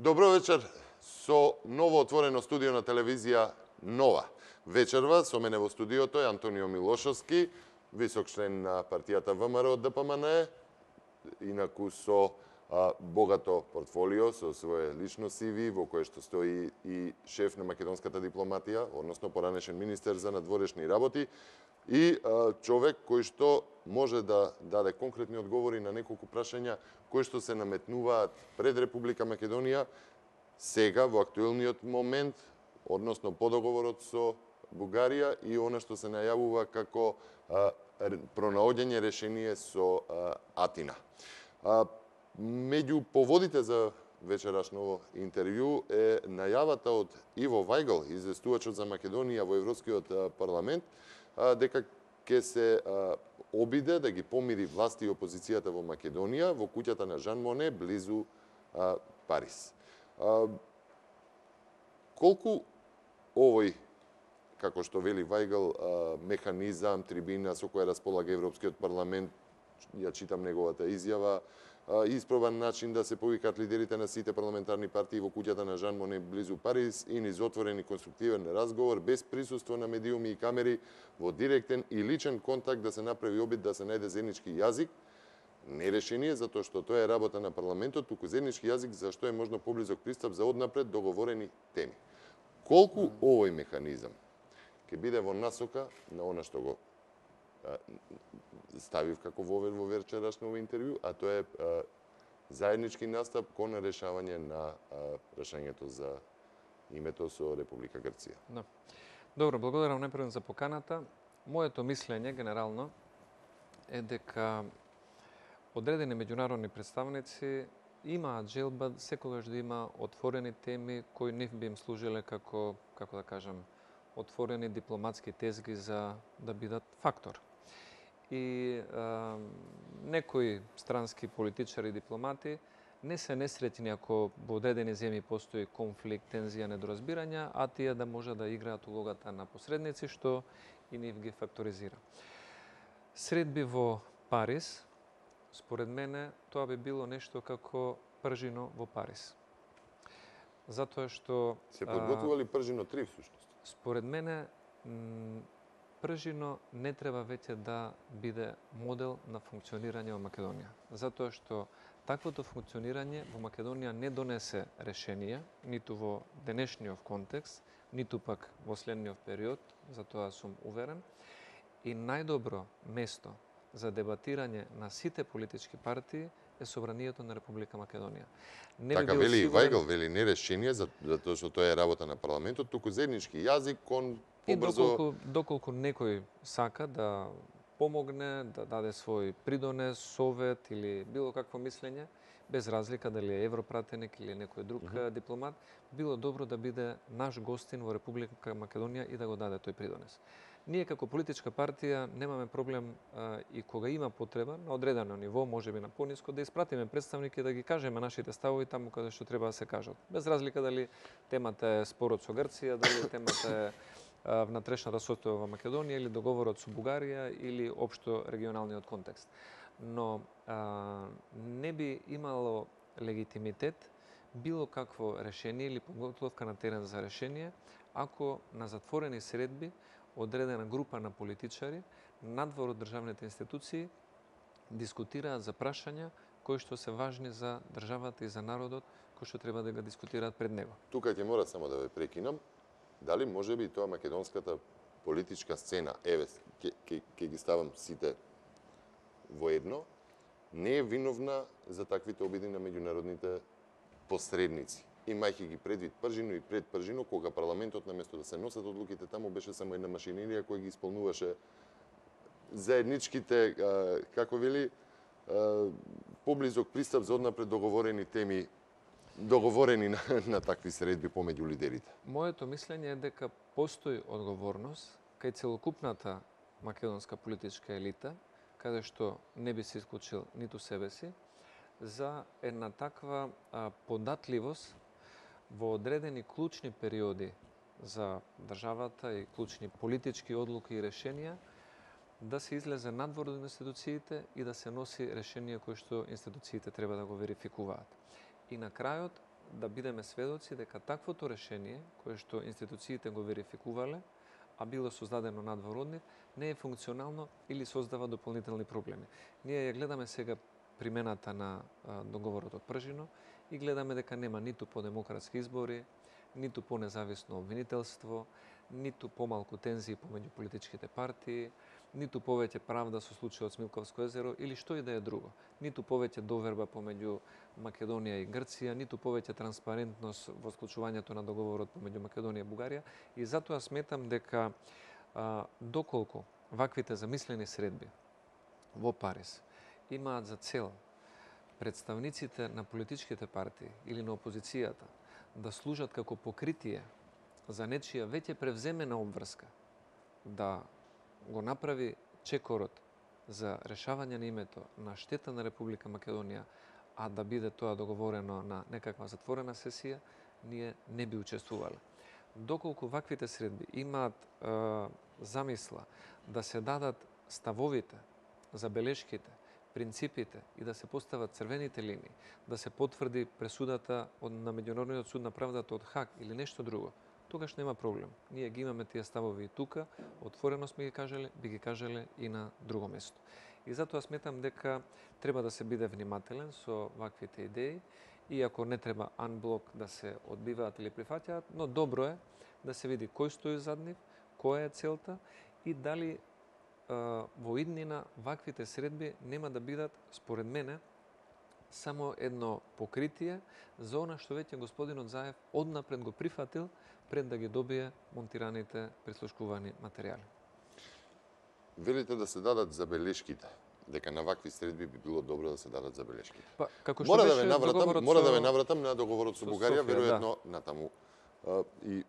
Добро вечер со ново отворено студио на телевизија Нова. Вечерва со мене во студиото е Антонио Милошовски, висок член на партијата ВМРО од ДПМН, инаку со богато портфолио, со свое лично CV, во кое што стои и шеф на македонската дипломатија, односно поранешен министер за надворешни работи, и човек кој што може да даде конкретни одговори на неколку прашања кои што се наметнуваат пред Република Македонија сега во актуелниот момент, односно по договорот со Бугарија и она што се најавува како пронаоѓање решение со Атина. Меѓу поводите за вечерашново интервју е најавата од Иво Вајгл, известувачот за Македонија во Европскиот парламент, дека ќе се обиде да ги помири власти и опозицијата во Македонија во куќата на Жан Моне близу Париз. Колку овој, како што вели Вајгл, механизам, трибина со која располага Европскиот парламент, ја читам неговата изјава, испробан начин да се повикаат лидерите на сите парламентарни партии во куќата на Жан Моне близу Париз и низ отворен и конструктивен разговор без присуство на медиуми и камери, во директен и личен контакт да се направи обид да се најде заеднички јазик, не решение затоа што тоа е работа на парламентот, туку заеднички јазик за што е можно поблизок пристап за однапред договорени теми. Колку овој механизам ќе биде во насока на она што го ставив како вовед во вечерашно интервју, а тоа е заеднички настап кон решавање на прашањето за името со Република Грција. Да. Добро, благодарам најпрво за поканата. Моето мислење генерално е дека одредени меѓународни представници имаат желба секогаш да има отворени теми кои не би им служиле како да кажам, отворени дипломатски тезги за да бидат фактор. И некои странски политичари и дипломати не се несреќни ако во одредени земји постои конфликт, тензија, недоразбирања, а тие да може да играат улогата на посредници, што и нив ги факторизира. Средби во Париз, според мене, тоа би било нешто како пржино во Париз. Затоа што се подготвували пржино 3 всушност. Според мене пржино не треба веќе да биде модел на функционирање во Македонија. Затоа што таквото функционирање во Македонија не донесе решение, ниту во денешниот контекст, ниту пак во следниот период, затоа сум уверен. И најдобро место за дебатирање на сите политички партии е собранието на Република Македонија. Така вели и Вајгл, вели не решение, затоа што тоа е работа на парламентот, туку заеднички јазик кон побрзо... И доколку некој сака да помогне, да даде свој придонес, совет или било какво мислење, без разлика дали е европратеник или некој друг дипломат, било добро да биде наш гостин во Република Македонија и да го даде тој придонес. Ние како политичка партија немаме проблем и кога има потреба на одредено ниво, можеби на пониско, да испратиме представники да ги кажеме нашите ставови таму каде што треба да се кажат. Без разлика дали темата е спорот со Грција, дали темата е внатрешната состојба во Македонија или договорот со Бугарија или општо регионалниот контекст. Но не би имало легитимитет било какво решение или подготовка на терен за решение ако на затворени средби одредена група на политичари надвор од државните институции дискутираат за прашања кои што се важни за државата и за народот, кои што треба да го дискутираат пред него. Тука ќе мора само да ве прекинам. Дали може би тоа македонската политичка сцена, еве, ќе ги ставам сите во едно, не е виновна за таквите обиди на меѓународните посредници? Имајќи ги предвид пржино и пред пржино, кога парламентот наместо да се носат одлуките таму беше само една машинерија која ги исполнуваше заедничките, како вели, поблизок пристап за однапред договорени теми, договорени на такви средби помеѓу лидерите. Моето мислење е дека постои одговорност кај целокупната македонска политичка елита, каде што не би се исклучил ниту себе си, за една таква податливост во одредени клучни периоди за државата и клучни политички одлуки и решенија, да се излезе надвор од институциите и да се носи решение кои што институциите треба да го верификуваат. И на крајот, да бидеме сведоци дека таквото решение, кое што институциите го верификувале, а било создадено надвор од нив, не е функционално или создава дополнителни проблеми. Ние ја гледаме сега примената на договорот од Пржино и гледаме дека нема ниту по демократски избори, ниту по независно обвинителство, ниту помалку тензии помеѓу политичките партии, ниту повеќе правда со случајот Смилковско езеро или што и да е друго. Ниту повеќе доверба помеѓу Македонија и Грција, ниту повеќе транспарентност во склучувањето на договорот помеѓу Македонија и Бугарија. И затоа сметам дека доколку ваквите замислени средби во Париз имаат за цел представниците на политичките партии или на опозицијата да служат како покритие за нечија веќе превземена обврска, да го направи чекорот за решавање на името на штета на Република Македонија, а да биде тоа договорено на некаква затворена сесија, ние не би учествувале. Доколку ваквите средби имаат замисла да се дадат ставовите, забелешките, принципите и да се постават црвените линии, да се потврди пресудата на Меѓународниот суд на правдата од Хаг или нешто друго, тогаш нема проблем. Ние ги имаме тие ставови и тука, отворено сме ги кажале, би ги кажале и на друго место. И затоа сметам дека треба да се биде внимателен со ваквите идеи, иако не треба анблок да се одбиваат или прифаќаат, но добро е да се види кој стои зад нив, која е целта и дали во иднина ваквите средби нема да бидат, според мене, само едно покритие за она што веќе господинот Заев однапред го прифатил пред да ги добие монтираните прислушкувани материјали. Велите да се дадат забелешките, дека на вакви средби би било добро да се дадат забелешките. Па, како што беше мора да ве навратам на договорот со Бугарија, Софија, веројатно натаму. И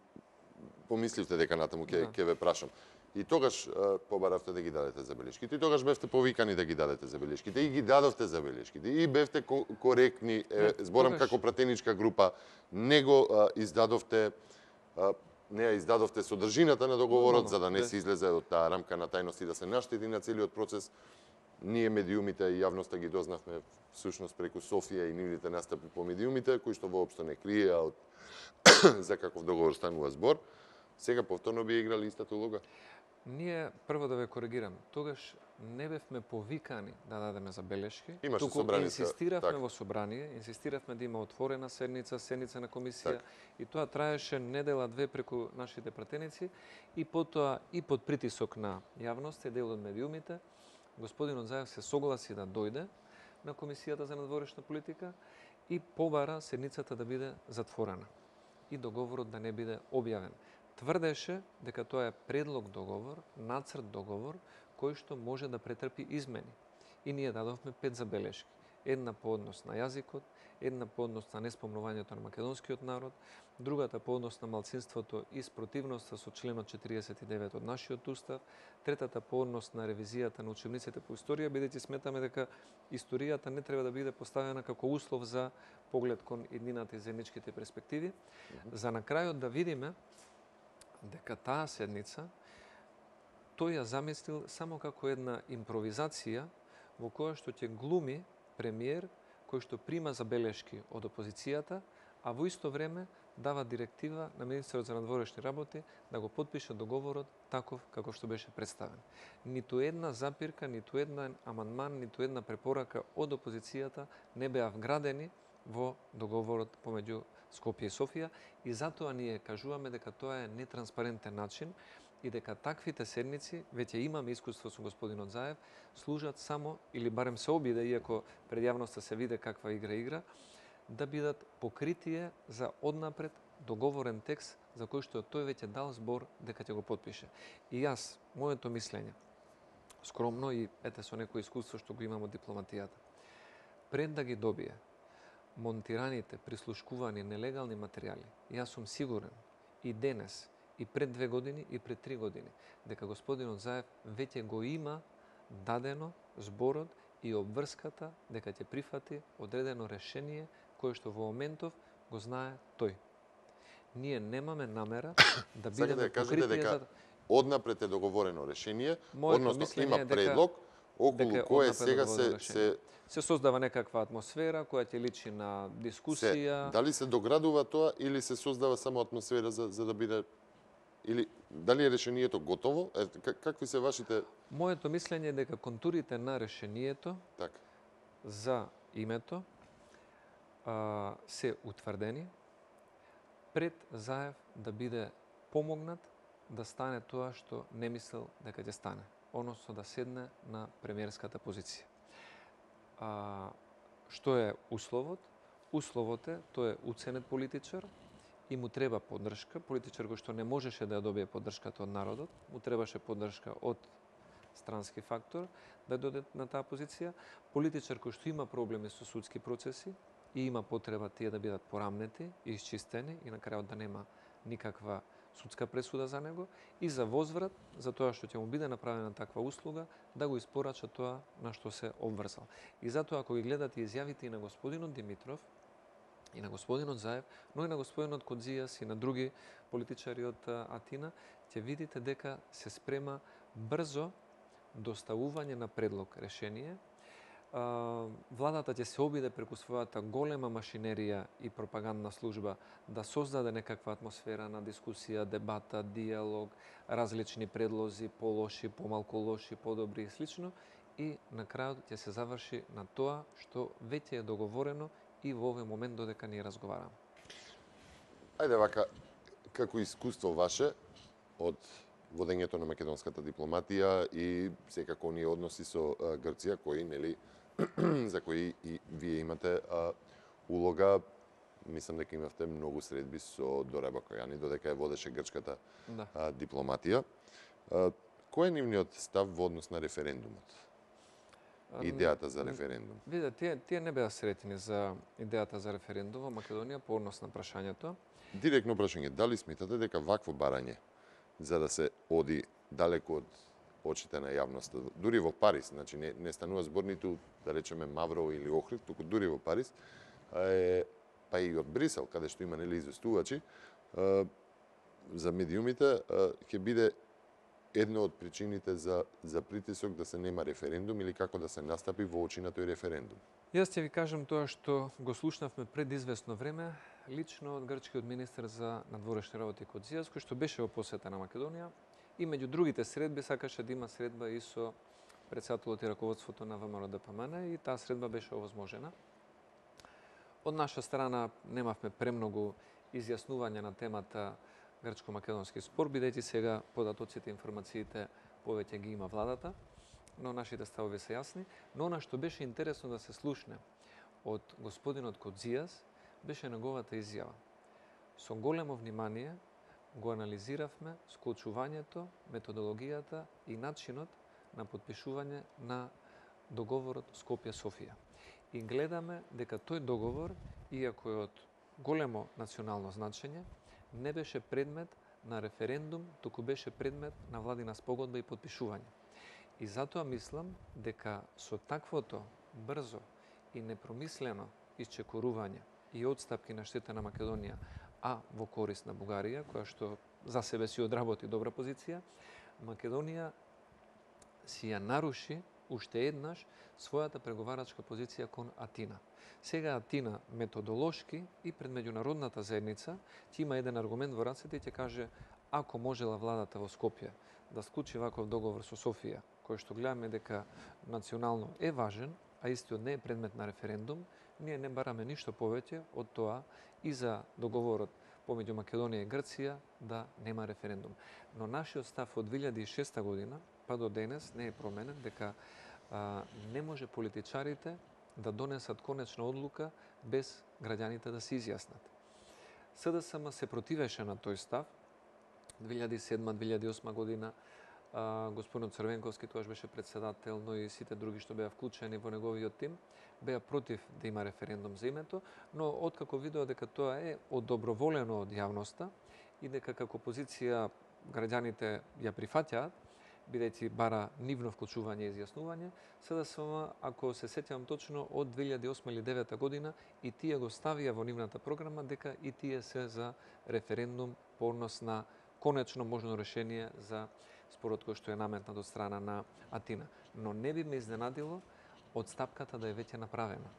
помисливте дека натаму ќе ве прашам. И тогаш побаравте да ги дадете забелешките, и тогаш бевте повикани да ги дадете забелешките, и ги дадовте забелешките, и бевте коректни, зборам тогаш... како пратеничка група, не го издадовте, не ја издадовте содржината на договорот, за да не се излезе од таа рамка на тајност и да се наштети на целиот процес. Ние медиумите и јавноста ги дознавме всушност преку Софија и нивните настапи по медиумите, кои што воопшто не криеа од за каков договор станува збор. Сега повторно би играли истата улога? Ние, прво да ве коригирам, тогаш не бевме повикани да дадеме забелешки, туку инсистиравме во собрание, инсистиравме да има отворена седница на комисија, и тоа траеше недела-две преку нашите пратеници, и потоа и под притисок на јавноста и дел од медиумите, господинот Заев се согласи да дојде на комисијата за надворешна политика и побара седницата да биде затворена и договорот да не биде објавен. Тврдеше дека тоа е предлог договор, нацрт договор, кој што може да претрпи измени. И ние дадовме 5 забелешки. Една по однос на јазикот, една по однос на неспомнувањето на македонскиот народ, другата по однос на малцинството и спротивноста со членот 49 од нашиот устав, третата по однос на ревизијата на учебниците по историја, бидејќи сметаме дека историјата не треба да биде поставена како услов за поглед кон иднината и заедничките перспективи. За на крајот да видиме дека таа седница тој ја замислил само како една импровизација во која што ќе глуми премиер кој што прима забелешки од опозицијата, а во исто време дава директива на министерот за надворешни работи да го потпише договорот таков како што беше представен. Ниту една запирка, ниту една амандман, ниту една препорака од опозицијата не беа вградени во договорот помеѓу Скопје и Софија, и затоа ние кажуваме дека тоа е нетранспарентен начин и дека таквите седници, веќе имаме искуство со господинот Заев, служат само, или барем се обиде, иако пред јавноста се виде каква игра, да бидат покритие за однапред договорен текст за кој што тој веќе дал збор дека ќе го потпише. И јас, моето мислење, скромно и ете со некој искуство што го имам од дипломатијата, пред да ги добие монтираните, прислушкувани нелегални материјали, јас сум сигурен и денес, и пред 2 години, и пред 3 години, дека господинот Заев веќе го има дадено зборот и обврската дека ќе прифати одредено решение кое што во моментов го знае тој. Ние немаме намера да бидеме покритие дека за... Однапред е договорено решение, односно има предлог, околу дека кое однапред сега доводи до решение. Се создава некаква атмосфера која ќе личи на дискусија. дали се доградува тоа или се создава само атмосфера за да биде, или дали е решението готово? Какви се вашите... Моето мислење е дека контурите на решението Така. за името се утврдени пред Заев да биде помогнат да стане тоа што не мислел дека ќе стане, односно да седне на премиерската позиција. Што е условот? Условот е, тој е уценет политичар и му треба поддршка, политичар кој што не можеше да ја добие поддршката од народот, му требаше поддршка од странски фактор да дојде на таа позиција, политичар кој што има проблеми со судски процеси и има потреба тие да бидат порамнети и исчистени и на крајот да нема никаква судска пресуда за него и за возврат за тоа што ќе му биде направена таква услуга да го испорача тоа на што се обврзал. И затоа ако ги гледате изјавите и на господинот Димитров и на господинот Заев, но и на господинот Кодзијас и на други политичари од Атина, ќе видите дека се спрема брзо доставување на предлог решение. Владата ќе се обиде преку својата голема машинерија и пропагандна служба да создаде некаква атмосфера на дискусија, дебата, диалог, различни предлози, полоши, помалку лоши, подобри и слично, и на крајот ќе се заврши на тоа што веќе е договорено и во овој момент додека ние разговараме. Ајде вака, како искуство ваше од водењето на македонската дипломатија и секако оние односи со Грција, кои, нели, за кои и вие имате улога, мислам дека имавте многу средби со Дора Бакојани, додека ја водеше грчката дипломатија. Кој е нивниот став во однос на референдумот? Идејата за референдум? Видите, тие не беа сретни за идејата за референдум во Македонија по однос на прашањето. Директно прашање, дали сметате дека вакво барање за да се оди далеко од очите на јавноста, дури во Париз, значи не станува збор ниту, да речеме, Мавро или Охрид, туку дури во Париз, па и од Брисел, каде што има, нели, известувачи, за медиумите, ќе биде една од причините за притисок да се нема референдум или како да се настапи во очи на тој референдум? Јас ќе ви кажам тоа што го слушнавме пред известно време, лично од грчкиот министер за надворешни работи Кодзијас, кој што беше во посета на Македонија, и меѓу другите средби сакаше да има средба и со претседателот и раководството на ВМРО ДПМН и таа средба беше овозможена. Од наша страна немавме премногу изјаснување на темата грчко-македонски спор, бидејќи сега податоците, информациите повеќе ги има владата, но нашите ставови се јасни. Но она што беше интересно да се слушне од господинот Кодзијас беше неговата изјава. Со големо внимание го анализиравме склучувањето, методологијата и начинот на подпишување на договорот Скопје-Софија. И гледаме дека тој договор, иако е од големо национално значење, не беше предмет на референдум, туку беше предмет на владина спогодба и подпишување. И затоа мислам дека со таквото брзо и непромислено исчекорување и одстапки на штета на Македонија, а во корист на Бугарија, која што за себе си одработи добра позиција, Македонија си ја наруши уште еднаш својата преговарачка позиција кон Атина. Сега Атина методолошки и пред меѓународната заедница ќе има еден аргумент во рацете и ќе каже ако можела владата во Скопје да склучи ваков договор со Софија, кој што гледаме дека национално е важен, а истиот не е предмет на референдум, ние не бараме ништо повеќе од тоа и за договорот помеѓу Македонија и Грција да нема референдум. Но нашиот став од 2006 година па до денес не е променен, дека не може политичарите да донесат конечна одлука без граѓаните да се изјаснат. СДСМ се противеше на тој став. 2007-2008 година господинот Црвенковски, тоаш беше председател, но и сите други што беа вклучени во неговиот тим, беа против да има референдум за името, но откако видеа дека тоа е одоброволено од јавноста и дека како позиција граѓаните ја прифаќаат, бидејќи бара нивно вклучување и изјаснување, СДСМ, ако се сеќавам точно, од 2008 или 2009 година и тие го ставија во нивната програма дека и тие се за референдум по однос на конечно можно решение за спорот кој што е наметнат од страна на Атина. Но не би ме изненадило одстапката да е веќе направена.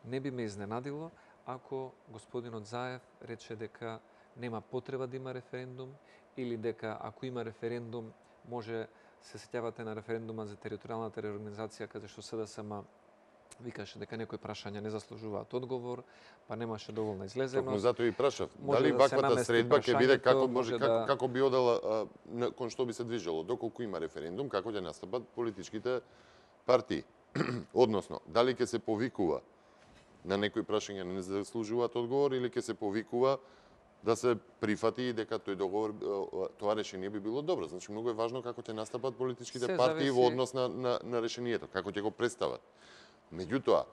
Не би ме изненадило ако господинот Заев рече дека нема потреба да има референдум или дека ако има референдум може, се сеќавате на референдума за територијалната реорганизација каде што СДСМ викаше дека некои прашања не заслужуваат одговор, па немаше доволна излезеност. Токму затоа и прашав. Може Дали да се ваквата намести средба ќе биде како прашањето, може може да- како би одела кон што би се движело, доколку има референдум, како ќе настапат политичките партии. Односно, дали ќе се повикува на некои прашања не заслужуваат одговор или ќе се повикува да се прифати дека тој договор, тоа решение би било добро. Значи многу е важно како ќе настапат политичките Се партии зависи- во однос на решението, како ќе го представат. Меѓутоа,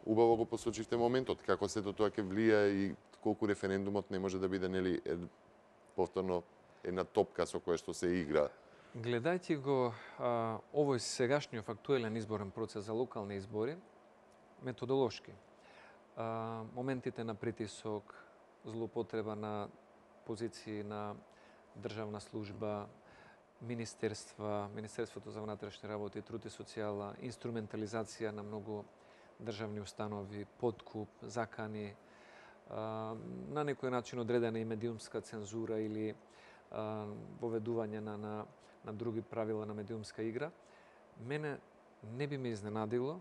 убаво го посочивте моментот, како сето тоа ќе влијае и колку референдумот не може да биде нели повторно една топка со која што се игра. Гледајќи го овој сегашниот актуелен изборен процес за локални избори, методолошки, моментите на притисок, злоупотреба на позиции на државна служба, министерства, Министерството за внатрешни работи, труд и социјала, инструментализација на многу државни установи, подкуп, закани, на некој начин одредена и медиумска цензура или воведување на други правила на медиумска игра, мене не би ме изненадило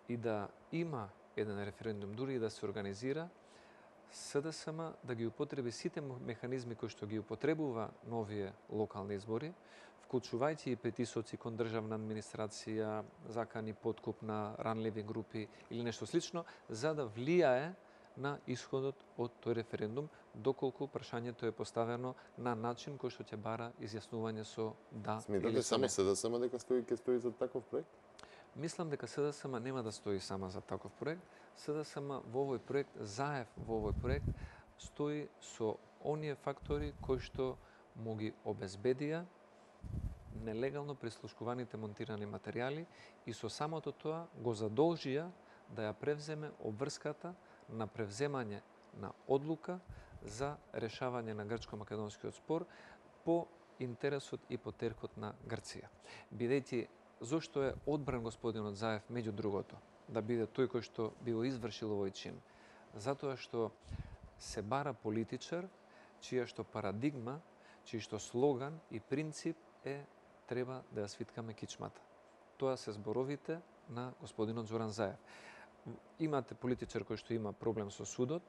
и да има еден референдум, дури и да се организира, СДСМ да ги употреби сите механизми кои што ги употребува на овие локални избори, вклучувајќи и притисоци кон државна администрација, закани, подкуп на ранливи групи или нешто слично, за да влијае на исходот од тој референдум, доколку прашањето е поставено на начин кој што ќе бара изјаснување со да Сметате или со само не. СДСМ дека ќе стои за таков проект? Мислам дека СДСМ нема да стои сама за таков проект. СДСМ во овој проект, Заев во овој проект, стои со оние фактори кои што му ги обезбедија нелегално прислушкуваните монтирани материјали и со самото тоа го задолжија да ја превземе обврската на превземање на одлука за решавање на грчко-македонскиот спор по интересот и по теркот на Грција. Бидејќи зошто е одбран господинот Заев меѓу другото да биде тој кој што би го извршил овој чин? Затоа што се бара политичар чија што парадигма, чиј што слоган и принцип е треба да ја свиткаме кичмата. Тоа се зборовите на господинот Зоран Заев. Имате политичар кој што има проблем со судот,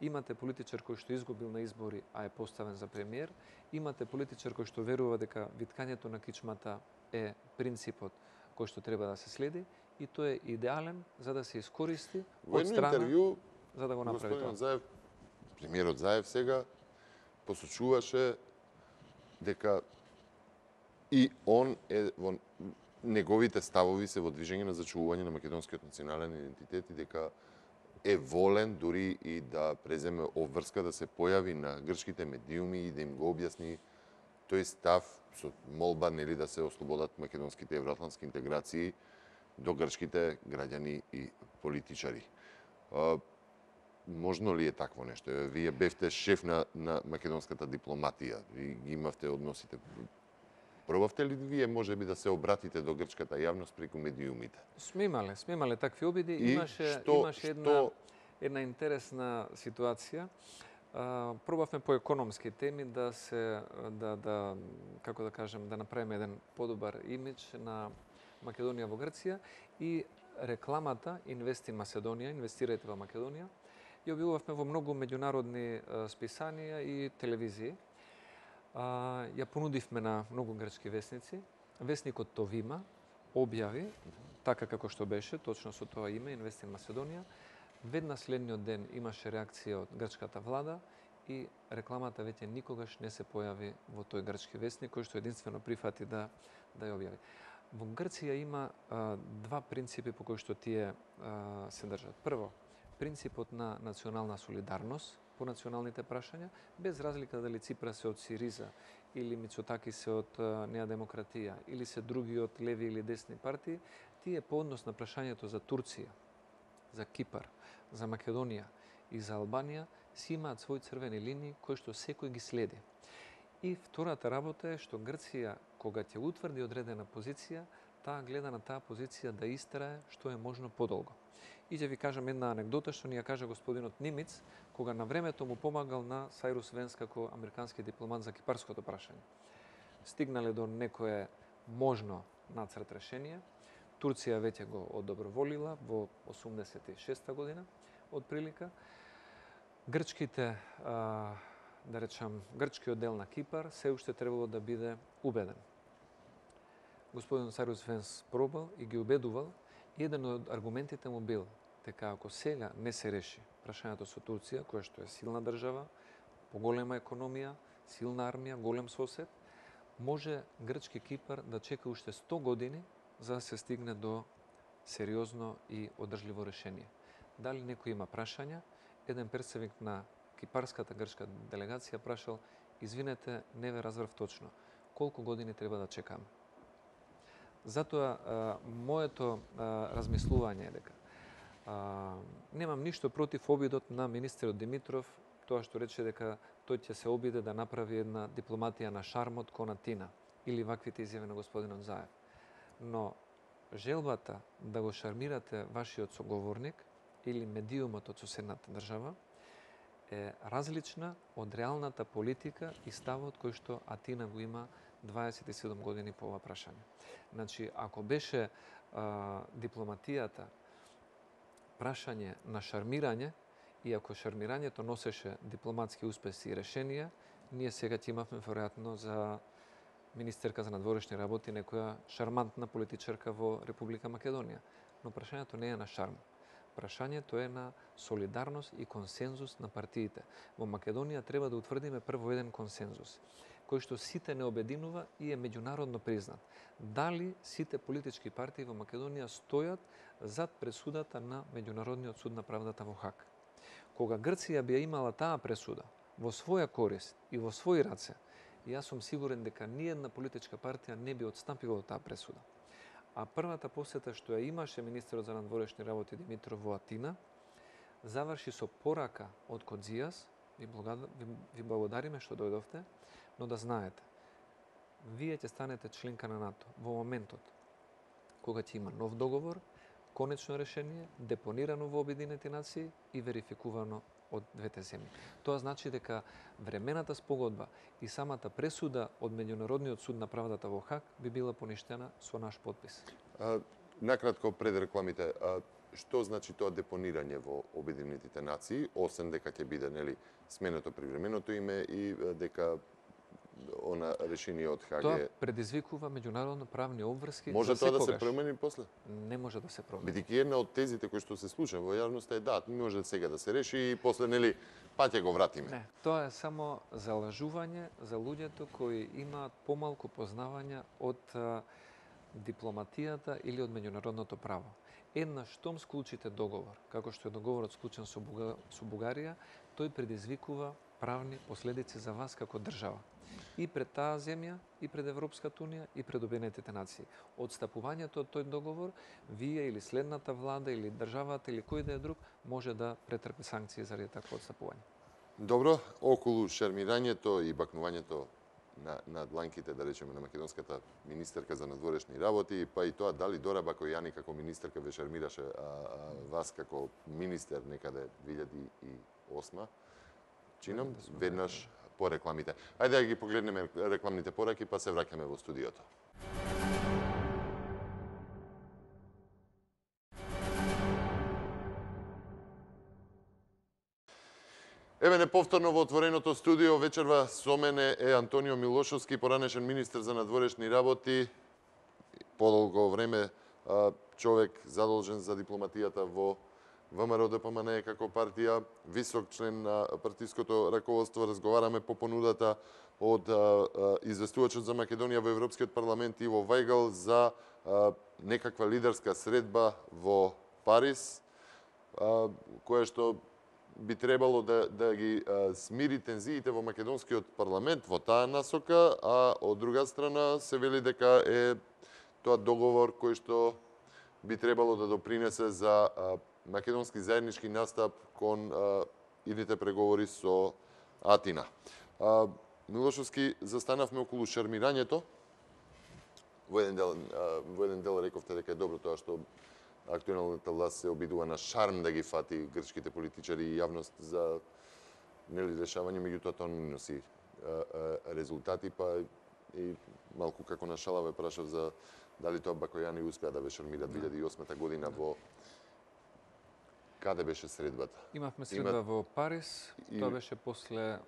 имате политичар кој што изгубил на избори, а е поставен за премиер, имате политичар кој што верува дека виткањето на кичмата е принципот кој што треба да се следи и тој е идеален за да се искористи Во од едно страна интервју за да го направи тоа. господинот Заев, премиерот Заев сега посочуваше дека и он е во неговите ставови се во движење на зачувување на македонскиот национален идентитет и дека е волен дури и да преземе обврска да се појави на грчките медиуми и да им го објасни тој став со молба нели да се ослободат македонските евроатлантски интеграции до грчките граѓани и политичари. Можно ли е такво нешто? Вие бевте шеф на македонската дипломатија и ги имавте односите. Пробавте ли вие можеби да се обратите до грчката јавност преку медиумите? Сме имале такви обиди. И Имаше една интересна ситуација. Пробавме по економски теми да како да кажем, да направиме еден подобар имидж на Македонија во Грција и рекламата Инвести Македонија, инвестирајте во Македонија, ја објавувавме во многу меѓународни списанија и телевизии. Ја понудивме на многу грчки весници. Весникот Товима објави, така како што беше, точно со тоа име, Инвести Македонија. Веднаш следниот ден имаше реакција од грчката влада и рекламата веќе никогаш не се појави во тој грчки весник, кој што единствено прифати да ја објави. Во Грција има два принципи по кои што тие се држат. Прво, принципот на национална солидарност по националните прашања, без разлика дали Ципрас се од Сириза или Мицотаки се од Неа демократија или се други од леви или десни партии, тие по однос на прашањето за Турција, за Кипар, за Македонија и за Албанија си имаат своји црвени линии кои што секој ги следи. И втората работа е што Грција, кога ќе утврди одредена позиција, таа гледа на таа позиција да истрае што е можно подолго. И ќе ви кажам една анекдота што ни ја кажа господинот Нимиц, кога на времето му помагал на Сайрус Венс како американски дипломат за кипарското прашање. Стигнале до некое можно нацрт решение, Турција веќе го одоброволила во 86 година, од прилика. Грчките, да речам, грчкиот дел на Кипар се уште требало да биде убеден. Господин Сайрус Венс пробал и ги убедувал, и еден од аргументите му бил дека ако сега не се реши прашањето со Турција, која што е силна држава, поголема економија, силна армија, голем сосед, може грчки Кипар да чека уште 100 години за да се стигне до сериозно и одржливо решение. Дали некој има прашања? Еден представник на кипарската грчка делегација прашал: извинете, не ве разбрав точно, колку години треба да чекаме? Затоа моето размислување е дека немам ништо против обидот на министерот Димитров, тоа што рече дека тој ќе се обиде да направи една дипломатија на шармот кон Атина или ваквите изјави на господинот Заев. Но желбата да го шармирате вашиот соговорник или медиумот од соседната држава е различна од реалната политика и ставот кој што Атина го има 27 години по ова прашање. Значи, ако беше дипломатијата прашање на шармирање, и ако шармирањето носеше дипломатски успеси и решенија, ние сега ќе имавме веројатно за министерка за надворешни работи некоја шармантна политичарка во Република Македонија. Но прашањето не е на шарм. Прашањето е на солидарност и консензус на партиите. Во Македонија треба да утврдиме прво еден консензус, кој што сите не обединува и е меѓународно признат. Дали сите политички партии во Македонија стојат зад пресудата на Меѓународниот суд на правдата во Хаг? Кога Грција би имала таа пресуда во своја корист и во своји раце, јас сум сигурен дека ниедна политичка партија не би отстапила од таа пресуда. А првата посета што ја имаше министерот за надворешни работи Димитров во Атина, заврши со порака од Кодзијас: ви благодариме што дојдовте, но да знаете, вие ќе станете членка на НАТО во моментот кога ќе има нов договор, конечно решение, депонирано во Обединените нации и верификувано од двете земји. Тоа значи дека времената спогодба и самата пресуда од Меѓународниот суд на правдата во Хаг би била поништена со наш подпис. Накратко пред рекламите, што значи тоа депонирање во Обединетите нации, освен дека ќе биде, нели, сменето привременото име и дека она решение од Хаг Тоа предизвикува меѓународно правни обврски. Може тоа да се промени после? Не може да се промени. Бидејќи една од тезите кои што се случува во јавноста е да, може сега да се реши и после, нели, па ќе го вратиме. Не, тоа е само залажување за луѓето кои имаат помалку познавање од дипломатијата или од меѓународното право. Еднаш штом склучите договор, како што е договорот склучен со Бугарија, тој предизвикува правни последици за вас како држава. И пред таа земја, и пред Европската унија, и пред Обединетите нации. Одстапувањето од тој договор, вие или следната влада, или државата, или кој да е друг, може да претрпи санкции заради такво одстапување. Добро, околу шармирањето и бакнувањето на дланките, да речеме, на македонската министерка за надворешни работи, па и тоа дали Дора Бакојани како министерка ве шармираше вас како министер некаде 2008, чинам, веднаш по рекламите. Ајде да ги погледнеме рекламните пораки, па се враќаме во студиото. Еве неповторно во отвореното студио вечерва со мене е Антонио Милошовски, поранешен министер за надворешни работи, подолго време човек задолжен за дипломатијата во ВМРО ДПМН како партија, висок член на партиското раководство. Разговараме по понудата од известувачот за Македонија во Европскиот парламент Иво Вајгал за некаква лидерска средба во Париз, која што би требало да ги смири тензиите во македонскиот парламент во таа насока, а од друга страна се вели дека е тоа договор кој што би требало да допринесе за македонски заеднички настап кон идните преговори со Атина. Милошовски застанавме околу шармирањето. Во еден дел рековте дека е добро тоа што актуелната власт се обидува на шарм да ги фати грчките политичари и јавност за решавање, меѓутоа тоа не носи резултати, па и малку како на шала ве прашав за дали тоа Бакојани успеа да ве шармира 2008 година во каде беше средбата? Имавме средба во Париз, тоа беше после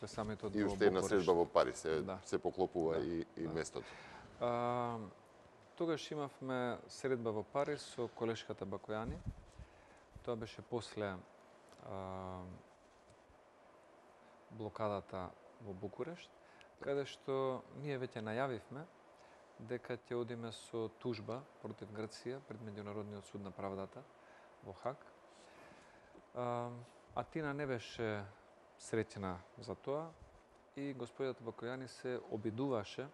самитот во Букурешт. И уште една средба во Париз, се поклопува и местото. Тогаш имавме средба во Париз со колешката Бакојани. Тоа беше после блокадата во Букурешт, каде што ние веќе најавивме дека ќе одиме со тужба против Грција пред Меѓународниот суд на правдата во Хаг. Атина не беше среќна за тоа и господјата Бакојани се обидуваше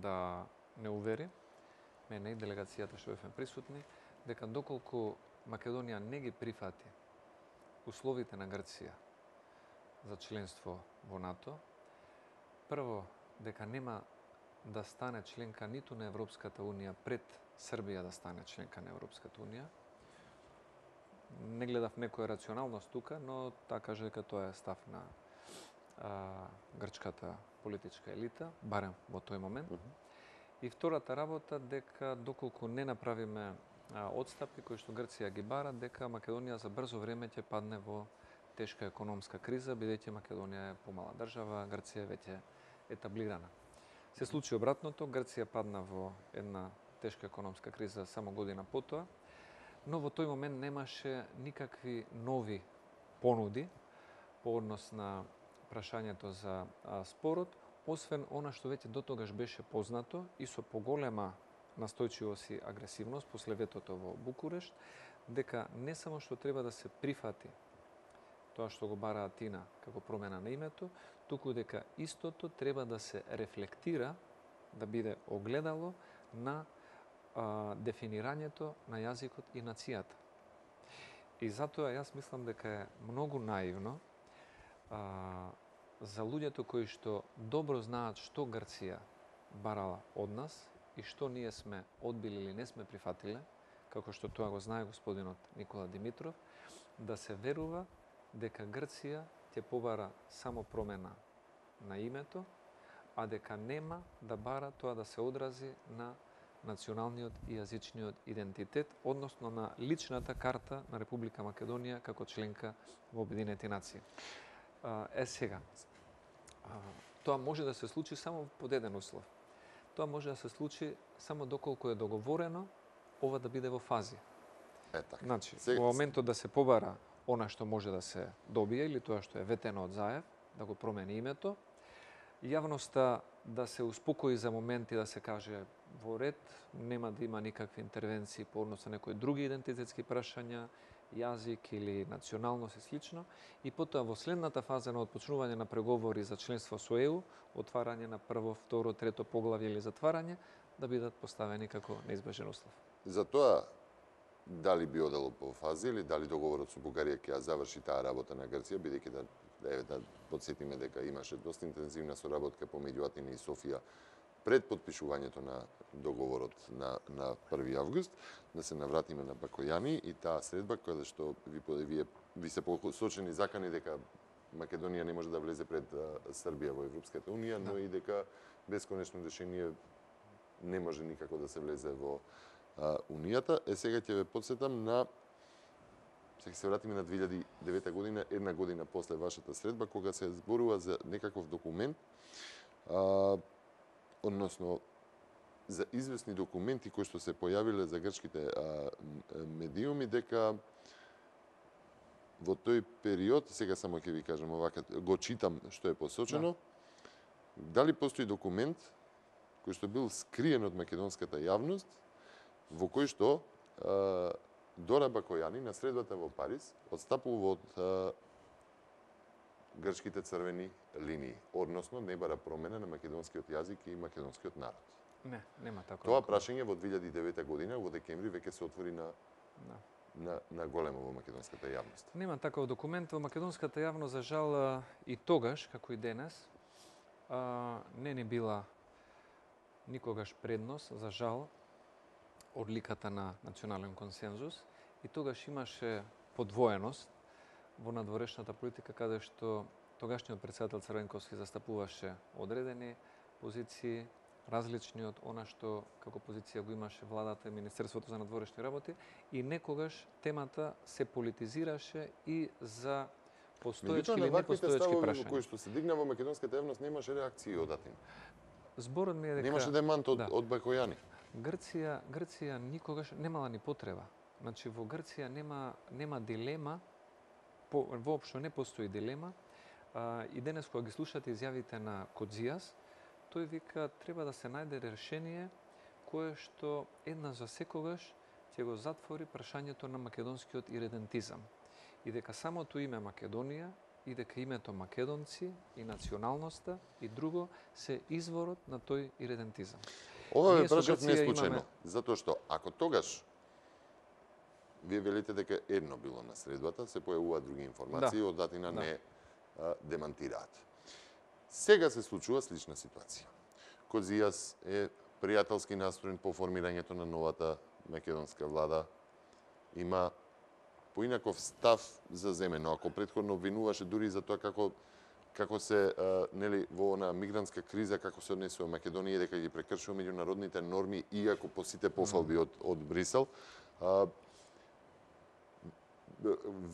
да не увери мене и делегацијата што бевме присутни дека доколку Македонија не ги прифати условите на Грција за членство во НАТО, прво дека нема да стане членка ниту на Европската Унија пред Србија да стане членка на Европската Унија. Не гледав некоја рационалност тука, но таа каже дека тоа е став на грчката политичка елита, барем во тој момент. И втората работа дека доколку не направиме одстапи кои што Грција ги бара, дека Македонија за брзо време ќе падне во тешка економска криза, бидејќи Македонија е помала држава, Грција е веќе етаблирана. Се случи обратното, Грција падна во една тешка економска криза само година потоа, но во тој момент немаше никакви нови понуди по однос на прашањето за спорот, освен она што веќе дотогаш беше познато и со поголема настојчивост и агресивност после ветото во Букурешт, дека не само што треба да се прифати тоа што го бара Атина како промена на името, туку дека истото треба да се рефлектира, да биде огледало на дефинирањето на јазикот и нацијата. И затоа јас мислам дека е многу наивно за луѓето кои што добро знаат што Грција барала од нас и што ние сме одбили или не сме прифатиле, како што тоа го знае господинот Никола Димитров, да се верува дека Грција ќе побара само промена на името, а дека нема да бара тоа да се одрази на националниот и јазичниот идентитет, односно на личната карта на Република Македонија како членка во Обединети нации. Сега, тоа може да се случи само под еден услов. Тоа може да се случи само доколку е договорено ова да биде во фази. Значи, во моментот да се побара она што може да се добие или тоа што е ветено од Заев, да го промени името, јавноста да се успокои за момент и да се каже во ред, нема да има никакви интервенции по однос на некои други идентитетски прашања, јазик или националност и слично, и потоа во следната фаза на отпочнување на преговори за членство со ЕУ, отварање на прво, второ, трето поглавје или затварање, да бидат поставени како неизбежен услов. За тоа, дали би одело по фази или дали договорот со Бугарија ќе ја заврши таа работа на Грција, бидејќи да подсетиме дека имаше доста интензивна соработка помеѓу Атина и Софија пред подпишувањето на договорот на 1 август, да се навратиме на Бакојани и таа средба која што ви се посочени закани дека Македонија не може да влезе пред Србија во Европската Унија, но и дека без конечно решение не може никако да се влезе во Унијата. Сега ќе ве подсетам на ќе се вратиме на 2009 година, една година после вашата средба, кога се зборува за некаков документ, односно за известни документи кои што се појавиле за грчките медиуми, дека во тој период, сега само ќе ви кажам овака, го читам што е посочено, дали постои документ кој што бил скриен од македонската јавност, во кој што Дора Бакојани на средбата во Париз одстапува од грчките црвени линии, односно не бара промена на македонскиот јазик и македонскиот народ. Не, нема такова. Тоа прашање во 2009 година во декември веќе се отвори на големо во македонската јавност. Нема таков документ во македонската јавност, за жал, и тогаш, како и денес, не ни била никогаш предност, за жал, одликата на национален консензус и тогаш имаше подвоеност во надворешната политика, каде што тогашниот председател Црвенковски застапуваше одредени позиции, различни од она што како позиција го имаше владата и Министерството за надворешни работи и некогаш темата се политизираше и за постоечки или непостоечки прашања. Кои што се дигна во македонската јавност немаше реакции од Атина. Зборот ми е дека немаше демант од Бакојани. Грција никогаш немала ни потреба. Значи во Грција нема дилема, воопшто не постои дилема. И денес кога ги слушате изјавите на Кодзијас, тој вика треба да се најде решение кое што една за секогаш ќе го затвори прашањето на македонскиот иредентизам. И дека самото име Македонија и дека името македонци и националноста и друго се изворот на тој иредентизам. Ова ме прашат не случајно, затоа што ако тогаш вие велите дека едно било на средбата, се појавуваат други информации, од Атина не демантираат. Сега се случува слична ситуација. Кодзијас е пријателски настроен по формирањето на новата македонска влада. Има поинаков став за земено. Ако претходно обвинуваше дури за тоа како се нели во она мигрантска криза како се однесува Македонија дека ги прекршува меѓународните норми иако по сите пофалби од Брисел,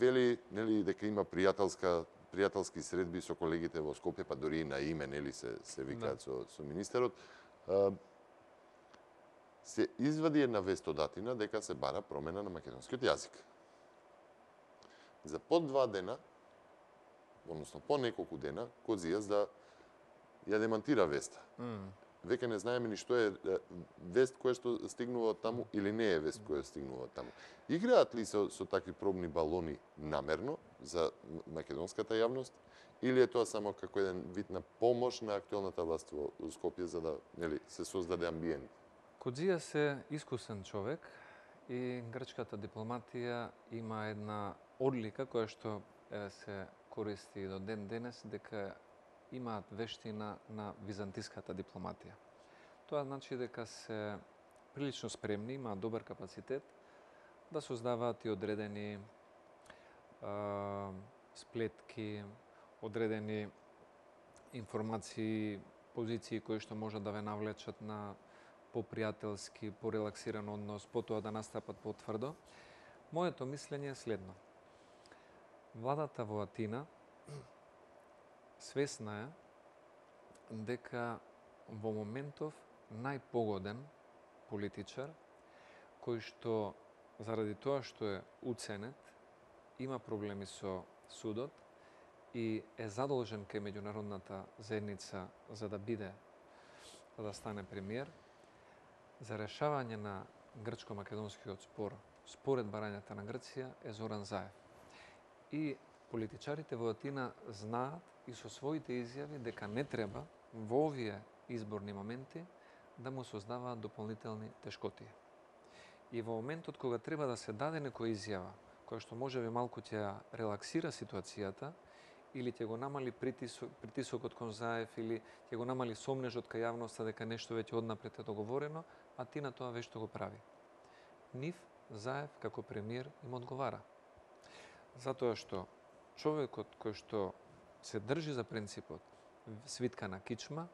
вели нели дека има пријателски средби со колегите во Скопје, па дури и на име нели се викаат со министерот. Се извади една вест од Атина дека се бара промена на македонскиот јазик. За по 2 дена, односно по неколку дена, Кодзијас да ја демантира веста. Веќе не знаеме ни што е вест која што стигнува од таму или не е вест која стигнува од таму. Играат ли со такви пробни балони намерно за македонската јавност или е тоа само како еден вид на помош на актуелната власт во Скопје за да нели се создаде амбиент? Кодзијас е искусен човек и грчката дипломатија има една одлика која што се користи до ден денес дека имаат вештина на византиската дипломатија. Тоа значи дека се прилично спремни, имаат добар капацитет да создаваат и одредени сплетки, одредени информации, позиции кои што можат да ве навлечат на попријателски, порелаксиран однос, потоа да настапат потврдо. Моето мислење е следно. Владата во Атина свесна е дека во моментов најпогоден политичар кој што заради тоа што е уценет, има проблеми со судот и е задолжен кај меѓународната заедница за да стане премиер, за решавање на грчко-македонскиот спор според барањата на Грција е Зоран Заев. И политичарите во Атина знаат и со своите изјави дека не треба во овие изборни моменти да му создаваат дополнителни тешкотии. И во моментот кога треба да се даде некоја изјава, која што можеби малку ќе ја релаксира ситуацијата, или ќе го намали притисокот кон Заев, или ќе го намали сомнежот кај јавноста дека нешто веќе однапред е договорено, Атина тоа веќе го прави. Нив Заев како премиер им одговара. Затоа што човекот кој што се држи за принципот свитка на кичма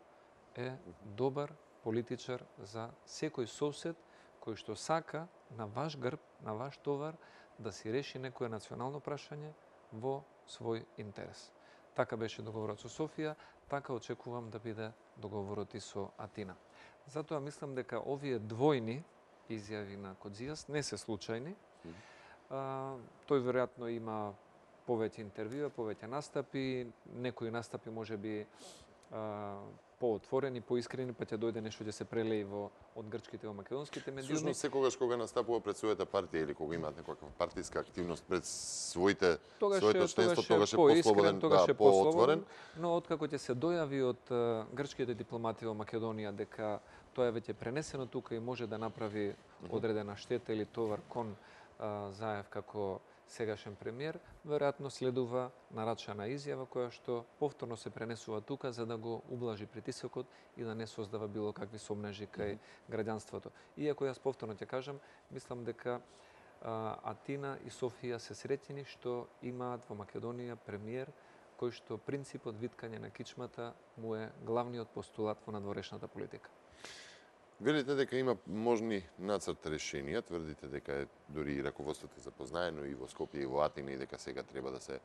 е добар политичар за секој сосед кој што сака на ваш грб, на ваш товар да си реши некое национално прашање во свој интерес. Така беше договорот со Софија, така очекувам да биде договорот и со Атина. Затоа мислам дека овие двојни изјави на Кодзијас не се случајни. Тој веројатно има повеќе интервјуа, повеќе настапи, некои настапи можеби поотворени, поискрени, па ќе дојде нешто ќе се прелеи од грчките во македонските медиуми. Всушност секогаш кога настапува пред својата партија или кога имаат некаква партиска активност пред своето членство, тогаш е послободен, поотворен. Но откако ќе се дојави од грчките дипломати во Македонија дека тоа е веќе пренесено тука и може да направи одредена штета или товар кон Заев како сегашен премиер, веројатно следува нарачана изјава која што повторно се пренесува тука за да го ублажи притисокот и да не создава било какви сомнежи кај граѓанството. Иако јас повторно ќе кажам, мислам дека Атина и Софија се среќени што имаат во Македонија премиер кој што принципот виткање на кичмата му е главниот постулат во надворешната политика. Велите дека има можни нацрт решенија, тврдите дека е дури и раководството запознаено и во Скопје и во Атина и дека сега треба да се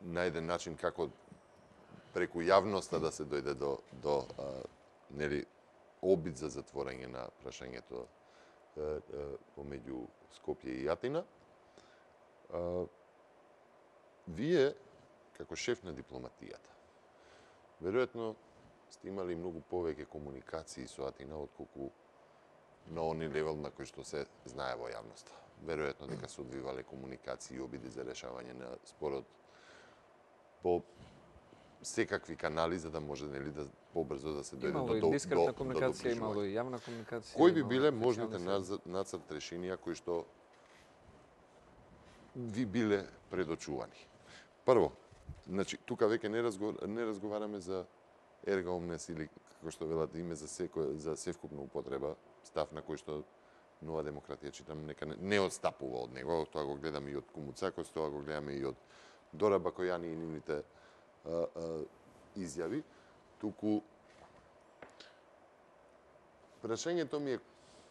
најде начин како преку јавноста да се дојде до нели обид за затворање на прашањето помеѓу Скопје и Атина. Вие, како шеф на дипломатијата, веројатно сте имали многу повеќе комуникации со Атина отколку на они левел на кој што се знае во јавноста. Веројатно дека се одвивале комуникации и обиди за решавање на спорот по секакви канали за да може нели да побрзо да се дојде Имало и дискретна комуникација, имало и јавна комуникација. Кои би биле можните нацрт решенија кои што ви биле предочувани? Прво, значи тука веќе не разговараме за ерга омнес или како што велат име за севкупна употреба, став на кој што Нова демократија читам нека не отстапува од него, тоа го гледаме и од Кумуцакос, тоа го гледаме и од Дора Бакојани и нивните изјави, туку прашањето ми е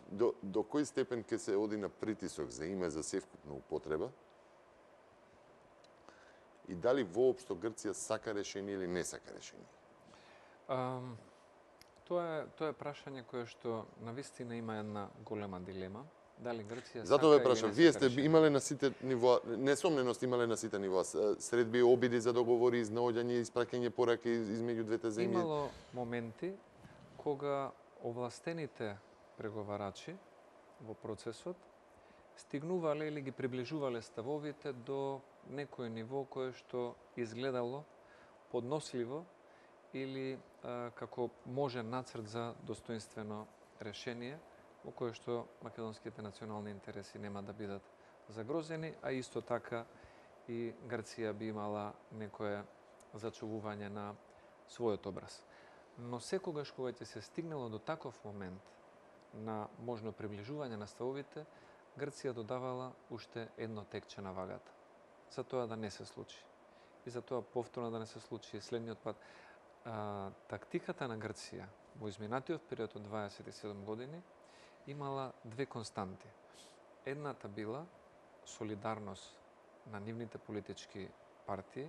до кој степен ќе се оди на притисок за име за севкупна употреба и дали воопшто Грција сака решение или не сака решение? Тоа е прашање кое што навистина има една голема дилема. Дали Грција Затоа ве сака прашам, вие сте имале на сите нивоа, несомненост имале на сите нивоа, средби, обиди за договори, изнаоѓање, испраќање пораки измеѓу двете земји. Имало моменти кога овластените преговарачи во процесот стигнувале или ги приближувале ставовите до некој ниво кое што изгледало подносливо или како може нацрт за достоинствено решение во кое што македонските национални интереси нема да бидат загрозени, а исто така и Грција би имала некое зачувување на својот образ. Но секогаш кога ќе се стигнало до таков момент на можно приближување на ставовите, Грција додавала уште едно текче на вагата. За тоа да не се случи. И за тоа повторно да не се случи следниот пат. Тактиката на Грција во изминатиот период од 27 години имала две константи. Едната била солидарност на нивните политички партии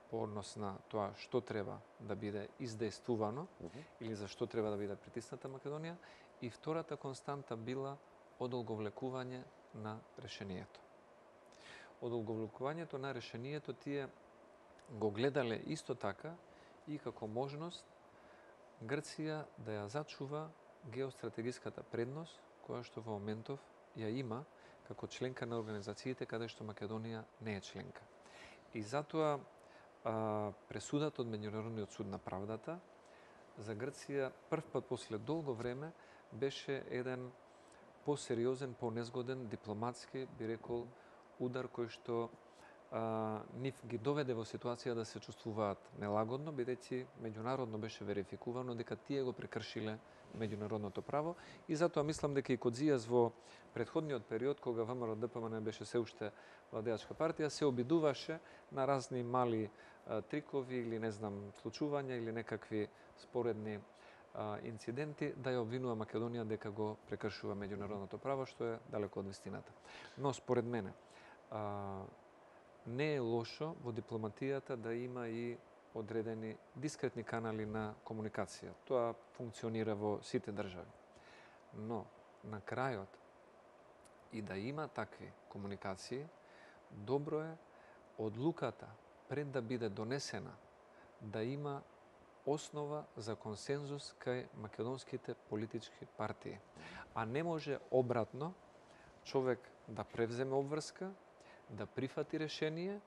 по однос на тоа што треба да биде издействувано или за што треба да биде притисната Македонија, и втората константа била одолговлекување на решението. Одолговлекувањето на решението тие го гледале исто така и како можност Грција да ја зачува геостратегиската предност која што во моментов ја има како членка на организациите каде што Македонија не е членка. И затоа пресудата од Меѓународниот суд на правдата за Грција прв пат после долго време беше еден посериозен, понезгоден, дипломатски, би рекол, удар кој што нив ги доведе во ситуација да се чувствуваат нелагодно, бидејќи меѓународно беше верификувано дека тие го прекршиле меѓународното право, и затоа мислам дека и Кодзијас во претходниот период, кога ВМРО ДПМН беше се уште владеачка партија, се обидуваше на разни мали трикови или не знам случувања или некакви споредни инциденти да ја обвинува Македонија дека го прекршува меѓународното право, што е далеко од вистината. Но според мене не е лошо во дипломатијата да има и одредени дискретни канали на комуникација. Тоа функционира во сите држави. Но на крајот и да има такви комуникации, добро е одлуката пред да биде донесена да има основа за консензус кај македонските политички партии. А не може обратно човек да превземе обврска, да прифати решение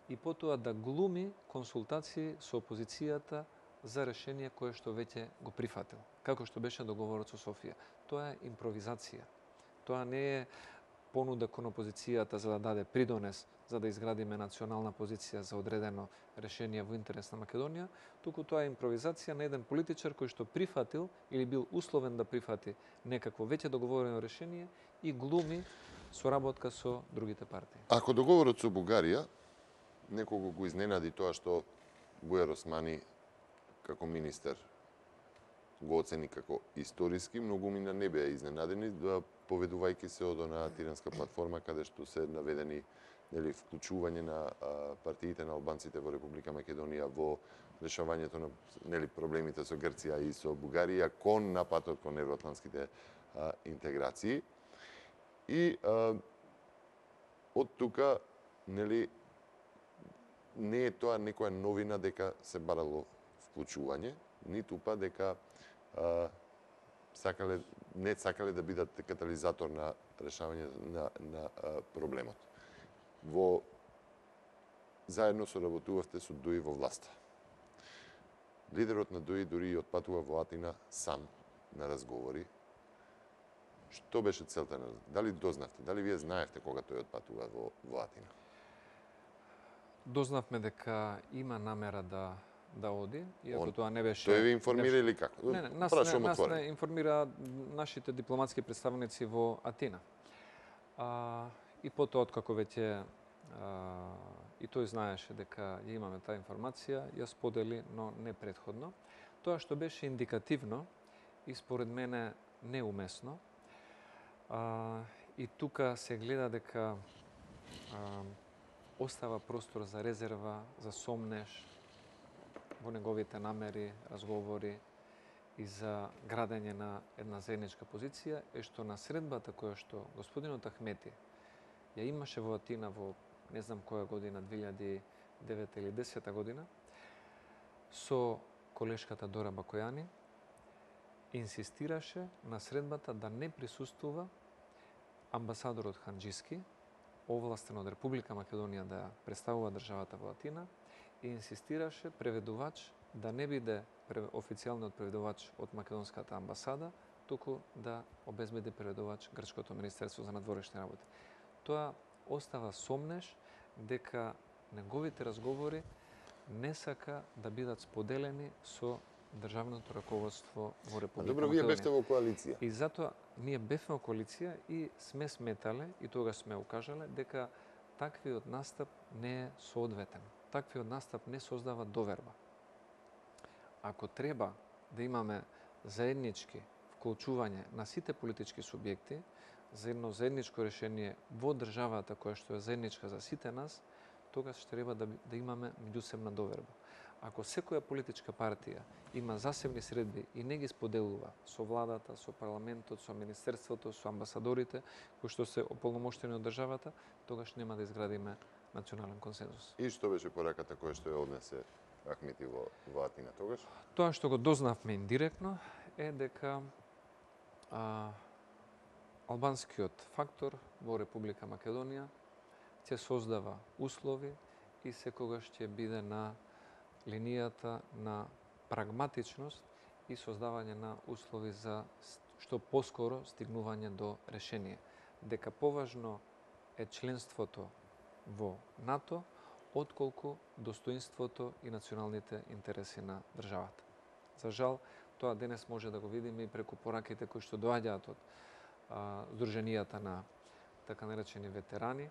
и потоа да глуми консултации со опозицијата за решение кое што веќе го прифатил, како што беше договорот со Софија. Тоа е импровизација. Тоа не е понуда кон опозицијата за да даде придонес за да изградиме национална позиција за одредено решение во интерес на Македонија, туку тоа е импровизација на еден политичар кој што прифатил или бил условен да прифати некакво веќе договорено решение и глуми соработка со другите партии. Ако договорот со Бугарија некого го изненади тоа што Бујар Османи како министер го оцени како историски, многумина не беа изненадени, поведувајќи се од онаа тиранска платформа каде што се наведени вклучување на партиите на албанците во Република Македонија во решавањето на проблемите со Грција и со Бугарија кон напатот кон евроатлантските интеграции. И од тука не е тоа некоја новина дека се барало вклучување, ниту па дека не сакале да бидат катализатор на решавање на проблемот. Заедно соработувавте со ДУИ во власта. Лидерот на ДУИ дури и отпатува во Атина сам на разговори. Што беше целта на разговори? Дали дознавте? Дали вие знаевте кога тој отпатува во Атина? Дознавме дека има намера да оди, иако тоа не беше... Тој ви информира или како? Не, нас не информира нашите дипломатски представници во Атина. И потоа, откако веќе и тој знаеше дека ја имаме таа информација, ја сподели, но не претходно. Тоа што беше индикативно и според мене неумесно, и тука се гледа дека остава простор за резерва, за сомнеш во неговите намери, разговори и за градење на една заедничка позиција, е што на средбата која што господинот Ахмети ја имаше во Атина во не знам која година, 2009 или 2010 година, со колешката Дора Бакојани, инсистираше на средбата да не присуствува амбасадорот Ханџиски, овластен од Република Македонија да представува државата во Атина, и инсистираше преведувач да не биде официјалниот преведувач од македонската амбасада, туку да обезбеди преведувач Грчкото Министерство за надворешни работи. Тоа остава сомнеш дека неговите разговори не сака да бидат споделени со државното раководство во Република Македонија. Добро, вие бевте во коалиција. И затоа ние бевме во коалиција и сме сметале, и тогаш сме укажале, дека таквиот настап не е соодветен. Таквиот настап не создава доверба. Ако треба да имаме заеднички вклучување на сите политички субјекти за едно заедничко решение во државата која што е заедничка за сите нас, тогаш треба да имаме меѓусебна доверба. Ако секоја политичка партија има засебни средби и не ги споделува со владата, со парламентот, со министерството, со амбасадорите, кои што се ополномоштени од државата, тогаш нема да изградиме национален консензус. И што беше пораката која што ја однесе Ахмети во Атина тогаш? Тоа што го дознавме индиректно е дека албанскиот фактор во Република Македонија ќе создава услови и секогаш ќе биде на линијата на прагматичност и создавање на услови за што поскоро стигнување до решение. Дека поважно е членството во НАТО, отколку достоинството и националните интереси на државата. За жал, тоа денес може да го видиме и преку пораките кои што доаѓаат од здруженијата на така наречени ветерани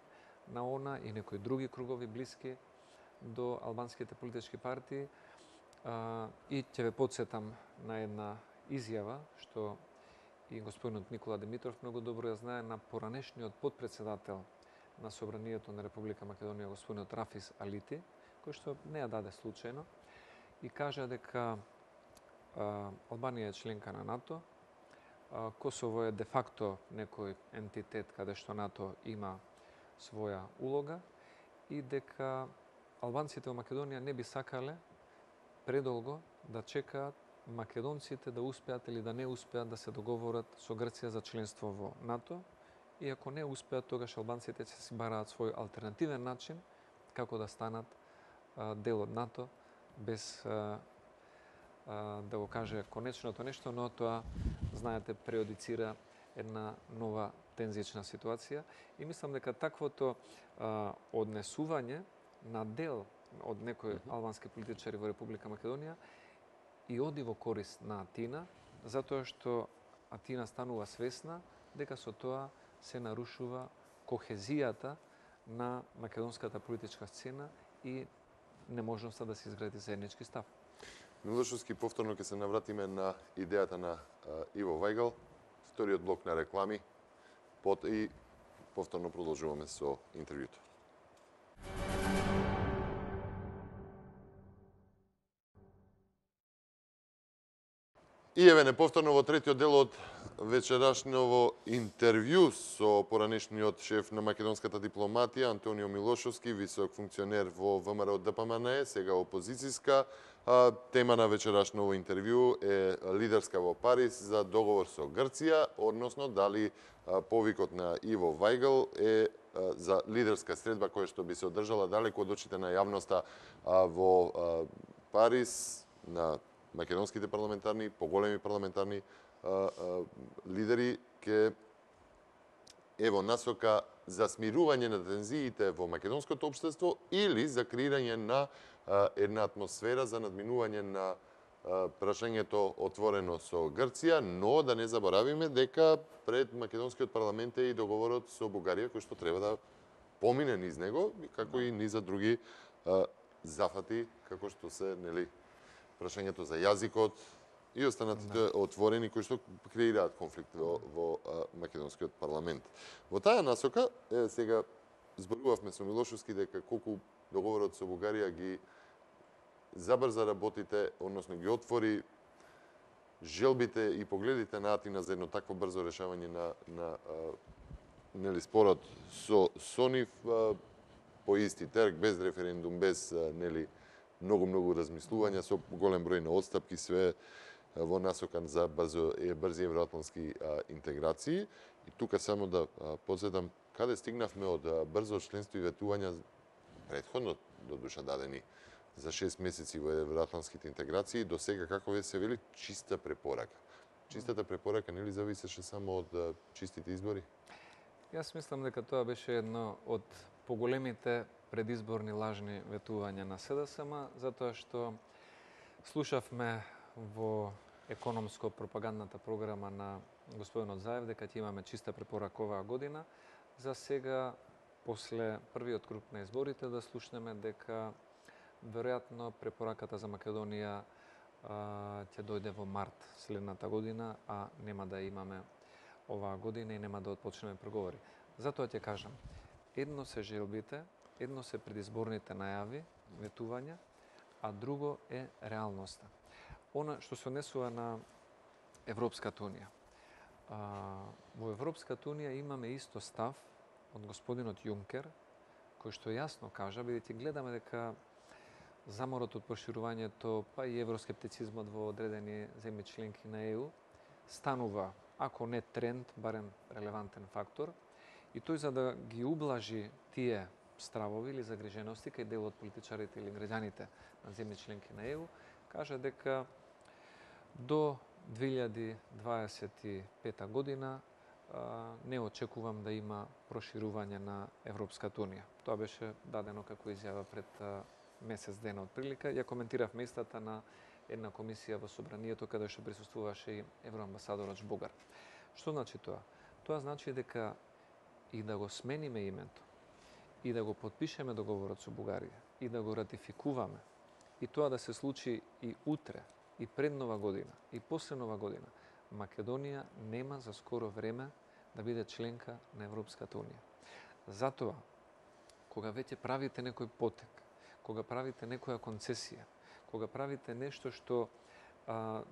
на ОНА и некои други кругови блиски до албанските политички партии. И ќе ве подсетам на една изјава што и господинот Никола Димитров многу добро ја знае, на поранешниот подпредседател на Собранието на Република Македонија, господинот Рафис Алити, кој што не ја даде случајно, и кажа дека Албанија е членка на НАТО, Косово е де факто некој ентитет каде што НАТО има своја улога и дека албанците во Македонија не би сакале предолго да чекаат македонците да успеат или да не успеат да се договорат со Грција за членство во НАТО, и ако не успеат, тогаш албанците ќе си бараат свој алтернативен начин како да станат дел од НАТО, без да го каже конечното нешто, но тоа, знаете, преодицира една нова тензична ситуација и мислам дека таквото однесување на дел од некои албански политичари во Република Македонија и оди во корист на Атина, затоа што Атина станува свесна дека со тоа се нарушува кохезијата на македонската политичка сцена и неможноста да се изгради заеднички став. Милошовски, повторно ќе се навратиме на идејата на Иво Вајгал, вториот блок на реклами, и повторно продолжуваме со интервјуто. И еве не повторно во третиот дел од вечерашново интервју со поранешниот шеф на македонската дипломатија Антонио Милошовски, висок функционер во ВМРО ДПМН, сега опозицијска. Тема на вечерашново интервју е лидерска во Париз за договор со Грција, односно дали повикот на Иво Вајгал е за лидерска средба која што би се одржала далеку од очите на јавноста во Париз на македонските парламентарни, поголеми парламентарни лидери ке ево насока за смирување на тензиите во македонското општество или за креирање на една атмосфера за надминување на прашањето отворено со Грција, но да не заборавиме дека пред македонскиот парламент е и договорот со Бугарија кој што треба да помине низ него, како и низ други зафати, како што се, нели, прашањето за јазикот и останатите отворени кои што креираат конфликт во македонскиот парламент. Во таа насока, сега зборувавме со Милошовски дека колку договорот со Бугарија ги забрза работите, односно ги отвори желбите и погледите на Атина за едно такво брзо решавање на нели спорот со нив по исти терк, без референдум, без нели многу размислувања, со голем број на отстапки, све во насока за брзи евроатлански интеграции. И тука само да подсетам каде стигнавме од брзо членство и ветувања претходно до душа дадени за 6 месеци во евроатланските интеграции, до сега, како ве се вели, чиста препорака. Чистата препорака нели зависеше само од чистите избори? Јас мислам дека тоа беше едно од поголемите предизборни лажни ветувања на СДСМ, затоа што слушавме во економско-пропагандната програма на господинот Заев дека ќе имаме чиста препорака оваа година. За сега, после првиот круг на изборите, да слушнеме дека веројатно препораката за Македонија ќе дојде во март следната година, а нема да имаме оваа година и нема да отпочнеме преговори. Затоа ќе кажам, едно се желбите, едно се предизборните најави, ветувања, а друго е реалноста. Она што се однесува на Европската унија. Во Европската унија имаме исто став од господинот Јункер, кој што јасно кажа, бидејќи гледаме дека заморот од проширувањето, па и евроскептицизмот во одредени земји членки на ЕУ, станува, ако не тренд, барем релевантен фактор, и тој за да ги ублажи тие стравови или загрижености кај дел од политичарите или граѓаните на земји членки на ЕУ, кажа дека до 2025 година не очекувам да има проширување на Европската унија. Тоа беше дадено како изјава пред месец дена од прилика. Ја коментиравме истата на една комисија во Собранието каде што присуствуваше и евроамбасадорот Жбогар. Што значи тоа? Тоа значи дека и да го смениме името, и да го подпишеме договорот со Бугарија, и да го ратификуваме, и тоа да се случи и утре, и пред Нова година, и после Нова година, Македонија нема за скоро време да биде членка на Европската унија. Затоа, кога веќе правите некој потек, кога правите некоја концесија, кога правите нешто што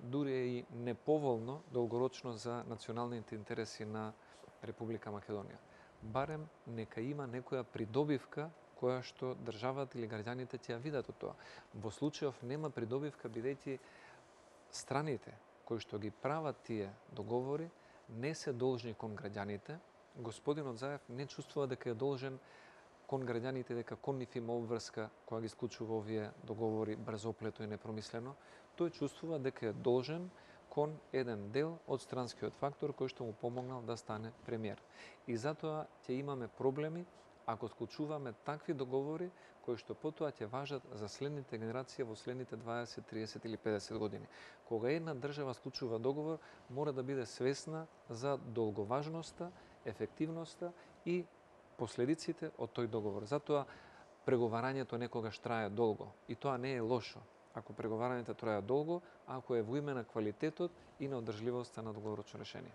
дури е и неповолно долгорочно за националните интереси на Република Македонија, барем нека има некоја придобивка која што државата или граѓаните ќе ја видат од тоа. Во случајов нема придобивка бидејќи страните кои што ги прават тие договори не се должни кон граѓаните. Господинот Заев не чувствува дека е должен кон граѓаните, дека кон нив има обврска кога ги склучува овие договори брзоплето и непромислено. Тој чувствува дека е должен кон еден дел од странскиот фактор кој што му помогнал да стане премиер. И затоа ќе имаме проблеми ако склучуваме такви договори кои што потоа ќе важат за следните генерации во следните 20, 30 или 50 години. Кога една држава склучува договор, мора да биде свесна за долговажноста, ефективноста и последиците од тој договор. Затоа преговарањето некогаш трае долго и тоа не е лошо. Ако преговарањето трае долго, ако е во име на квалитетот и на одржливоста на долгорочно решение.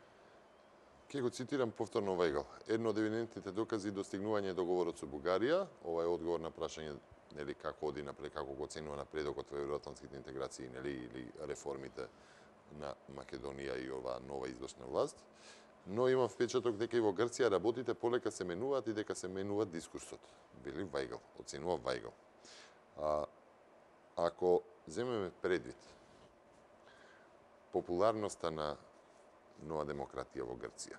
Ке го цитирам повторно Вајгал. Едно од евидентните докази достигнување договорот со Бугарија, ова е одговор на прашање нели како оди напред, како го оценува напредокот во евроатлантските интеграции, нели или реформите на Македонија и оваа нова извршна власт. Но имам впечаток дека и во Грција работите полека се менуваат и дека се менува дискурсот. Вели Вајгал, оценува Вајгал. Ако земеме предвид популарноста на Нова демократија во Грција,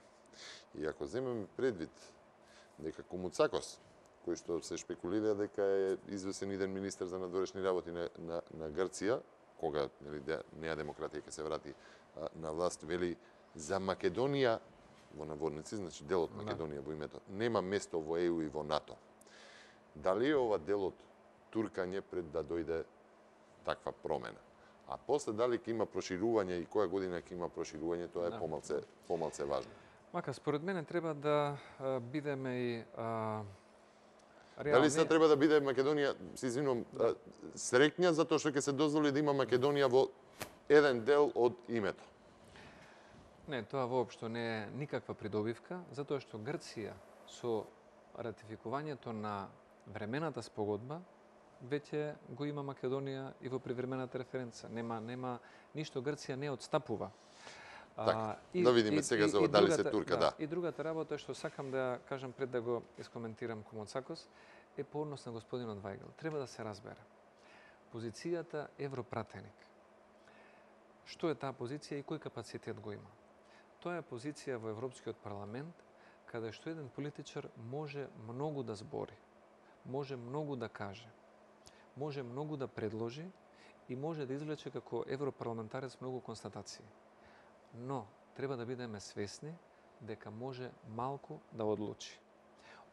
и ако земеме предвид дека Комуцакос, кој што се шпекулира дека е известен иден министер за надворешни работи на Грција, кога нели Неа демократија ќе се врати на власт, вели за Македонија во наводници, значи делот Македонија во името, нема место во ЕУ и во НАТО. Дали е ова делот туркање пред да дојде таква промена? А после дали ќе има проширување и која година ќе има проширување, тоа е помалце важно. Мака, според мене треба да бидеме и реални. Дали се треба да биде Македонија, се извинувам, среќна затоа што ќе се дозволи да има Македонија во еден дел од името? Не, тоа воопшто не е никаква придобивка, затоа што Грција со ратификувањето на времената спогодба веќе го има Македонија и во привремената референца. Нема ништо, Грција не отстапува. Така, да видиме сега за дали се турка, да. И другата работа што сакам да кажам пред да го искоментирам Комуцакос е по однос на господинот Вајгал. Треба да се разбере. Позицијата европратеник. Што е таа позиција и кој капацитет го има? Тоа е позиција во Европскиот парламент каде што еден политичар може многу да збори, може многу да каже, може многу да предложи и може да извлече како европарламентарец многу констатации. Но треба да бидеме свесни дека може малку да одлучи.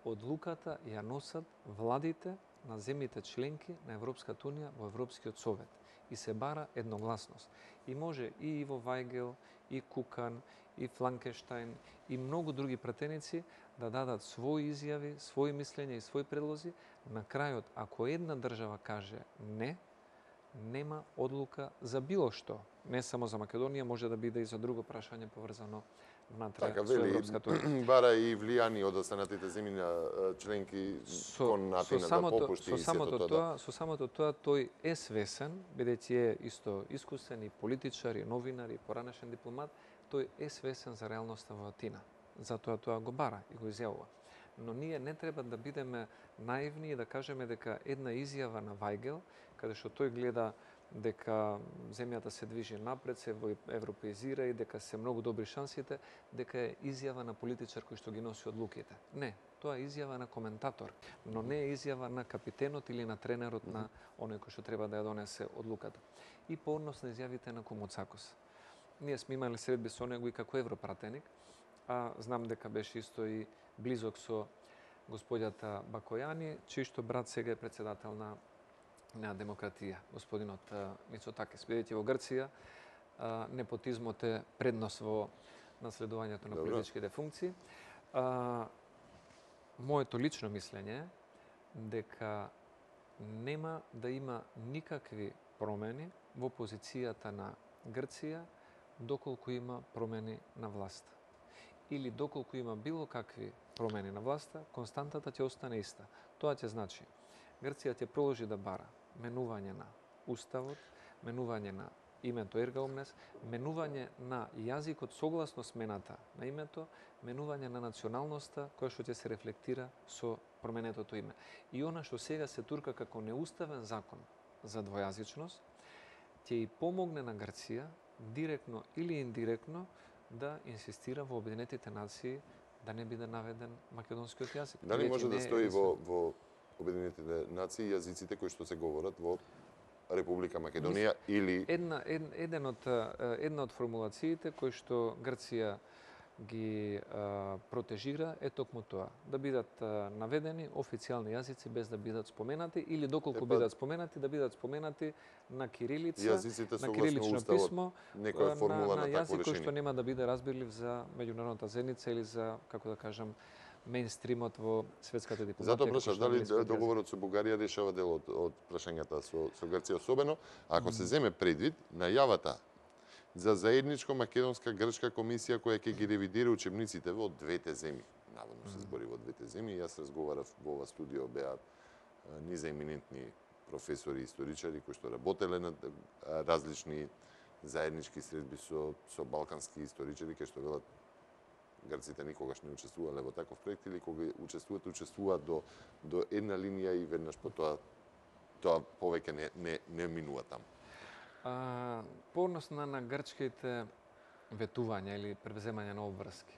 Одлуката ја носат владите на земјите членки на Европската унија во Европскиот совет и се бара едногласност. И може и Иво Вајгел, и Кукан, и Фланкенштајн, и многу други пратеници да дадат своји изјави, своји мислења и своји предлози. На крајот, ако една држава каже не, нема одлука за било што. Не само за Македонија, може да биде и за друго прашање поврзано внатре со Европската унија. Бара и влијани од останатите земји на членки кон Атина да попушти и сето тоа. Со самото тоа тој е свесен, бидејќи е исто искусен и политичар, и новинар, и поранешен дипломат, тој е свесен за реалноста во Атина. Затоа тоа го бара и го изјавува. Но ние не треба да бидеме наивни и да кажеме дека една изјава на Вајгел, каде што тој гледа дека земјата се движи напред, се европеизира и дека се многу добри шансите, дека е изјава на политичар кој што ги носи одлуките. Не, тоа е изјава на коментатор, но не е изјава на капитенот или на тренерот на оној кој што треба да ја донесе одлуката. И по однос на изјавите на Комуцакос. Ние сме имали средби со него и како европратеник, а знам дека беше исто и близок со господјата Бакојани, чиј што брат сега е председател на демократија, господинот Мицотакис. Бидејќи во Грција непотизмот е преднос во наследувањето на политичките функции. Моето лично мислење е дека нема да има никакви промени во позицијата на Грција доколку има промени на власта. Или доколку има било какви промени на власта, константата ќе остане иста. Тоа ќе значи Грција ќе продолжи да бара менување на уставот, менување на името Ерга Омнес, менување на јазикот согласно смената на името, менување на националноста која што ќе се рефлектира со променетото име. И она што сега се турка како неуставен закон за двојазичност, ќе и помогне на Грција директно или индиректно да инсистира во Обединетите нации да не биде наведен македонскиот јазик. Дали може да стои во Обединетите нации јазиците кои што се говорат во Република Македонија или Една од формулациите кои што Грција ги протежира е токму тоа, да бидат наведени официјални јазици без да бидат споменати или доколку бидат споменати, да бидат споменати на кирилица, на кирилично писмо, некоја формула на на такво јазик кој што решение. нема да биде разбирлив за меѓународната заедница или за, како да кажам, мејнстримот во светската дипломатија. Затоа прашав дали договорот со Бугарија решава дел од прашањата со Грција, особено ако се земе предвид најавата за заедничко македонска-грчка комисија која ќе ги ревидира учебниците во двете земји. Наводно се збори во двете земји. Јас разговарав во ова студио, беа низа еминентни професори и историчари кои што работеле на различни заеднички средби со балкански историчари, кои што велат грците никогаш не учествувале во таков проект или кога учествуваат до една линија и веднаш по тоа повеќе не минува таму. По однос на грчките ветувања или превземање на обврски.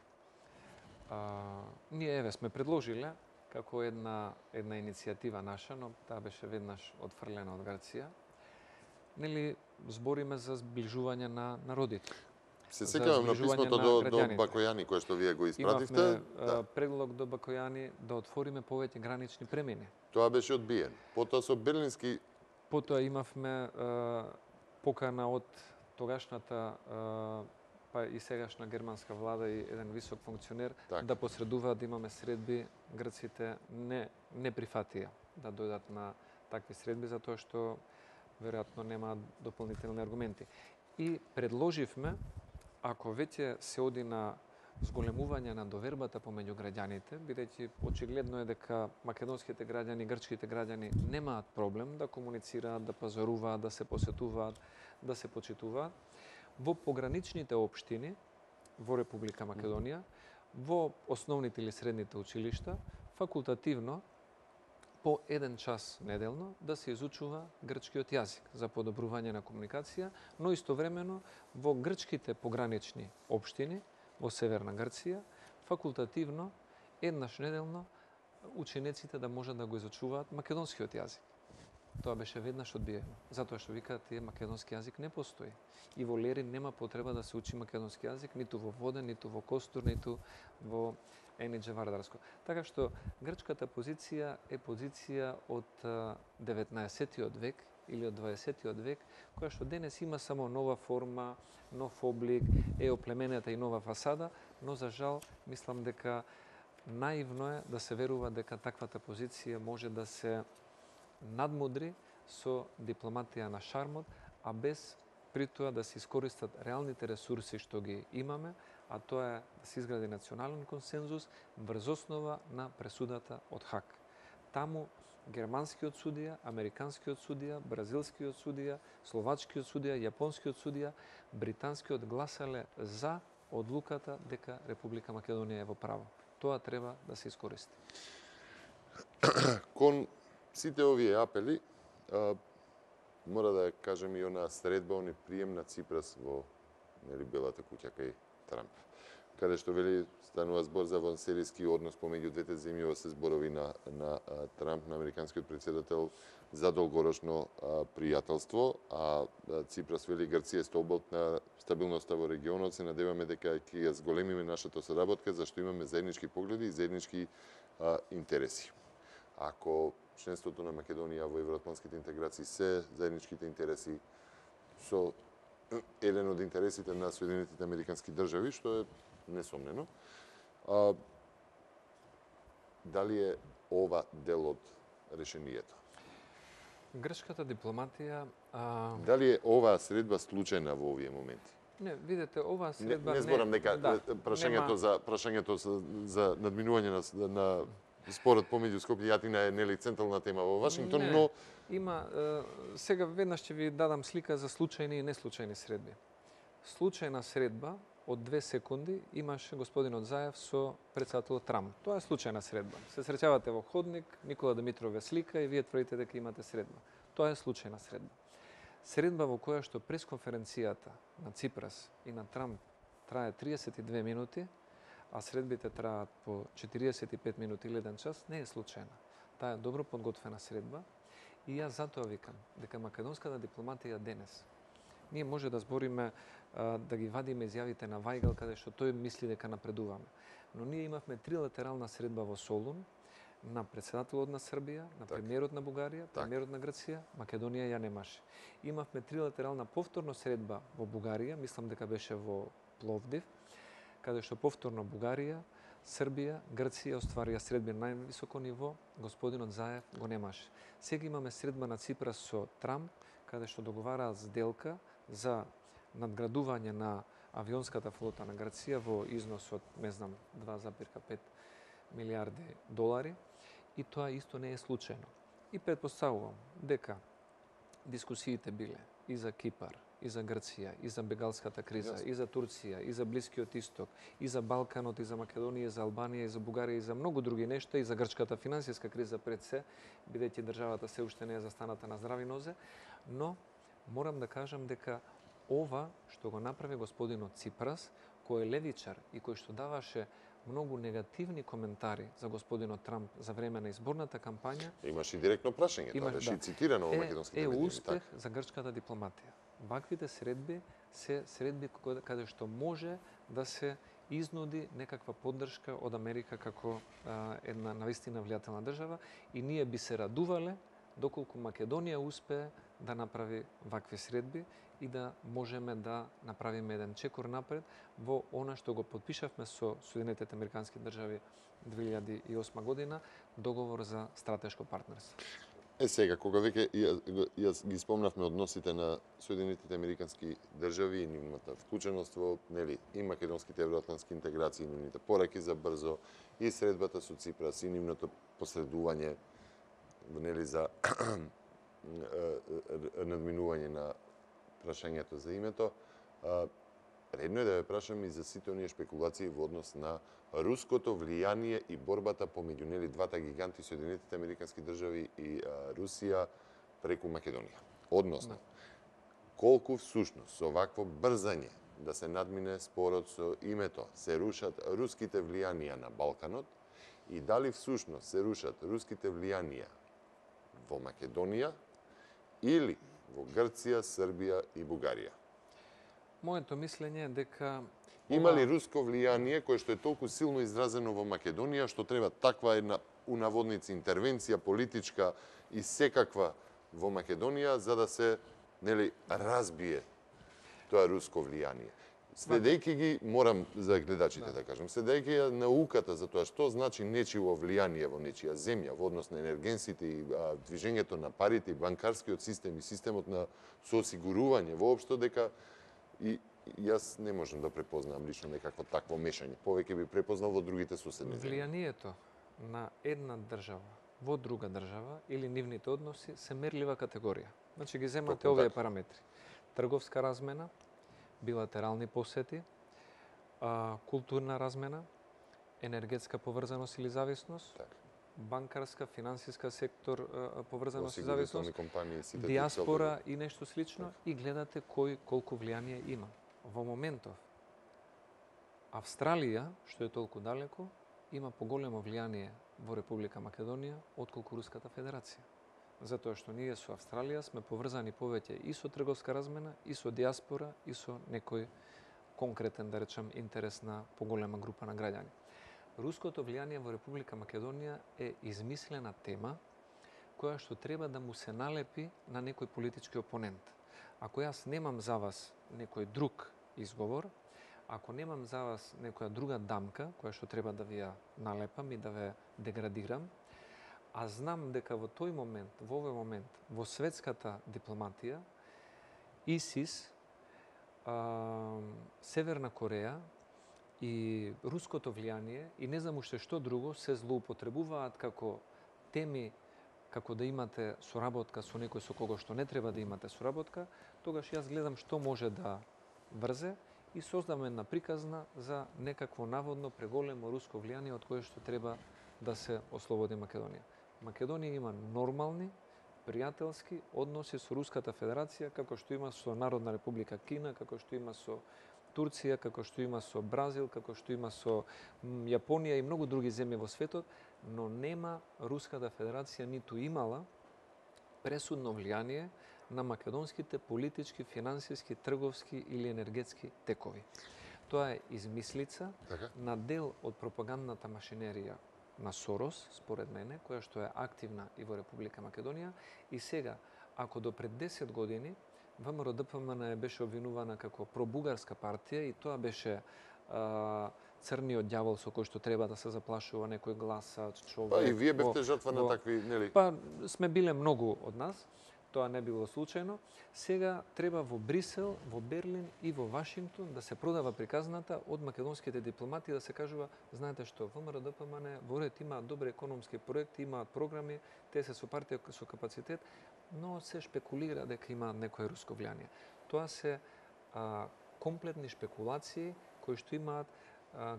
Ние еве сме предложиле како една иницијатива наша, но таа беше веднаш отфрлена од Грција. Нели збориме за зближување на народите. Се сеќавам на писмото до Бакојани кое што вие го испративте. Имавме предлог до Бакојани да отвориме повеќе гранични премини. Тоа беше одбиен. Потоа со Берлински Потоа имавме покана од тогашната па и сегашна германска влада и еден висок функционер да посредуваат да имаме средби. Грците не прифатија да дојдат на такви средби затоа што веројатно нема дополнителни аргументи. И предложивме, ако веќе се оди на зголемување на довербата помеѓу граѓаните, бидејќи очигледно е дека македонските граѓани и грчките граѓани немаат проблем да комуницираат, да пазаруваат, да се посетуваат, да се почитуваат, во пограничните општини во Република Македонија, во основните или средните училишта, факултативно по 1 час неделно да се изучува грчкиот јазик за подобрување на комуникација, но истовремено во грчките погранични општини во Северна Грција, факултативно еднаш неделно учениците да можат да го изучуваат македонскиот јазик. Тоа беше веднаш одбиено, затоа што викаат тие македонски јазик не постои. И во Лерин нема потреба да се учи македонски јазик, ниту во Воден, ниту во Костур, ниту во Енидже Вардарско. Така што грчката позиција е позиција од 19-тиот век или од 20-тиот век, која што денес има само нова форма, нов облик, е оплеменета и нова фасада, но за жал мислам дека наивно е да се верува дека таквата позиција може да се надмудри со дипломатија на шармот, а без при тоа да се искористат реалните ресурси што ги имаме, а тоа е да се изгради национален консензус врз основа на пресудата од Хаг. Таму германскиот судија, американскиот судија, бразилскиот судија, словачкиот судија, јапонскиот судија, британскиот гласале за одлуката дека Република Македонија е во право. Тоа треба да се искористи. Кон сите овие апели, мора да кажем и она средба, они прием на Ципрас во Белата куќа кај Трамп, каде што вели станува збор за вансеријски однос помеѓу двете земји, се зборови на Трамп, на американскиот претседател, за долгорочно пријателство, а Ципрас вели Грција е столбот на стабилноста во регионот, се надеваме дека ќе ја зголемиме нашата соработка, зашто имаме заеднички погледи и заеднички интереси. Ако членството на Македонија во евроатлантските интеграции се заедничките интереси со еден од интересите на Соединетите американски држави, што е несомнено. Дали е ова дел од решението? Грчката дипломатија... Дали е оваа средба случајна во овие моменти? Не, видете, оваа средба... Не зборам дека прашањето за надминување на спорот помеѓу Скопје и Атина е нели централна тема во Вашингтон, но има сега веднаш ќе ви дадам слика за случајни и неслучајни средби. Случајна средба од 2 секунди имаше господинот Заев со претседателот Трамп. Тоа е случајна средба. Се среќавате во ходник, Никола Димитров ве слика и вие тврдите дека имате средба. Тоа е случајна средба. Средба во која што пресконференцијата на Ципрас и на Трамп трае 32 минути, а средбите траат по 45 минути или 1 час, не е случајна. Таа е добро подготвена средба И јас затоа викам дека македонската дипломатија денес, ние може да збориме, да ги вадиме изјавите на Вајгал, каде што тој мисли дека напредуваме. Но ние имавме трилатерална средба во Солун, на председателот на Србија, на премиерот на Бугарија, премиерот на Грција, Македонија ја немаше. Имавме трилатерална повторно средба во Бугарија, мислам дека беше во Пловдив, каде што повторно Бугарија, Србија, Грција остварија средби на највисоко ниво, господинот Заев го немаше. Сега имаме средба на Ципрас со Трамп, каде што договараат сделка за надградување на авионската флота на Грција во износ од, не знам, 2,5 милиарди долари, и тоа исто не е случајно. И предпоставувам дека дискусиите биле и за Кипар, и за Грција, и за бегалската криза, и за Турција, и за Блискиот Исток, и за Балканот, и за Македонија, и за Албанија, и за Бугарија, и за многу други нешта, и за грчката финансиска криза пред се, бидејќи државата се уште не е застаната на здрави нозе, но морам да кажам дека ова што го направи господинот Ципрас, кој е левичар и кој што даваше многу негативни коментари за господинот Трамп за време на изборната кампања. Имаше и директно прашање, тоа беше и цитирано во македонските медии. Е успех за грчката дипломатија. Ваквите средби се средби каде што може да се изнуди некаква поддршка од Америка како една навистина влијателна држава, и ние би се радувале доколку Македонија успее да направи вакви средби и да можеме да направиме еден чекор напред во она што го подпишавме со Соединетите Американски држави 2008 година, договор за стратешко партнерство. Сега, кога веќе јас ги спомнавме односите на Соединетите Американски држави и нивната вклученост во, нели, и македонските евроатлантски интеграции, и нивните пораки за брзо, и средбата со Ципрас, и нивното посредување, нели, за надминување на прашањето за името, редно е да ве прашам и за сите оние шпекулации во однос на руското влијание и борбата помеѓу, нели, двата гиганти, Соединетите Американски држави и Русија, преку Македонија. Односно, колку всушност со вакво брзање да се надмине спорот со името се рушат руските влијанија на Балканот, и дали всушност се рушат руските влијанија во Македонија или во Грција, Србија и Бугарија? Моето мислење е дека има ли руско влијание кое што е толку силно изразено во Македонија што треба таква една унаводници интервенција политичка и секаква во Македонија за да се, нели, разбие тоа руско влијание? Следејќи ги, морам за гледачите да кажам, следејќи ја науката за тоа што значи нечиво влијание во нечија земја во однос на енергенсите и движењето на парите и банкарскиот систем и системот на соосигурување воопшто, дека и јас не можам да препознам лично некакво такво мешање. Повеќе би препознал во другите соседни земји. Влијанието на една држава во друга држава или нивните односи се мерлива категорија. Значи ги земате овие параметри: трговска размена, билатерални посети, културна размена, енергетска поврзаност или зависност, банкарска, финансиска сектор поврзаност и зависност, диаспора и нешто слично, и гледате кој колку влијание има. Во моментов Австралија, што е толку далеко, има поголемо влијание во Република Македонија отколку Руската Федерација. Затоа што ние со Австралија сме поврзани повеќе и со трговска размена, и со диаспора, и со некој конкретен, да речем, интерес на поголема група на граѓани. Руското влијание во Република Македонија е измислена тема која што треба да му се налепи на некој политички опонент. Ако јас немам за вас некој друг изговор, ако немам за вас некоја друга дамка која што треба да ви ја налепам и да ве деградирам, а знам дека во тој момент, во овој момент, во светската дипломатија, ИСИС, Северна Кореја и руското влијание и не знам уште што друго се злоупотребуваат како теми, како да имате соработка со некој со кого што не треба да имате соработка, тогаш јас гледам што може да врзе и создавам една приказна за некакво наводно преголемо руско влијание од кое што треба да се ослободи Македонија. Македонија има нормални, пријателски односи со Руската Федерација, како што има со Народна Република Кина, како што има со Турција, како што има со Бразил, како што има со Јапонија и многу други земји во светот, но нема Руската Федерација ниту имала пресудно влијание на македонските политички, финансиски, трговски или енергетски текови. Тоа е измислица на дел од пропагандната машинерија на Сорос, според мене, која што е активна и во Република Македонија. И сега, ако до пред 10 години ВМРО ДПМН беше обвинувана како пробугарска партија и тоа беше црниот ѓавол со кој што треба да се заплашува некој гласач, човек. Па и вие бевте жртва на такви, нели? Па сме биле многу од нас. Тоа не било случајно. Сега треба во Брисел, во Берлин и во Вашингтон да се продава приказната од македонските дипломати да се кажува, знаете што, ВМРО ДПМН во ред имаат добри економски проекти, имаат програми, те се со партија со капацитет, но се шпекулира дека имаат некое руско влијание. Тоа се комплетни шпекулации кои што имаат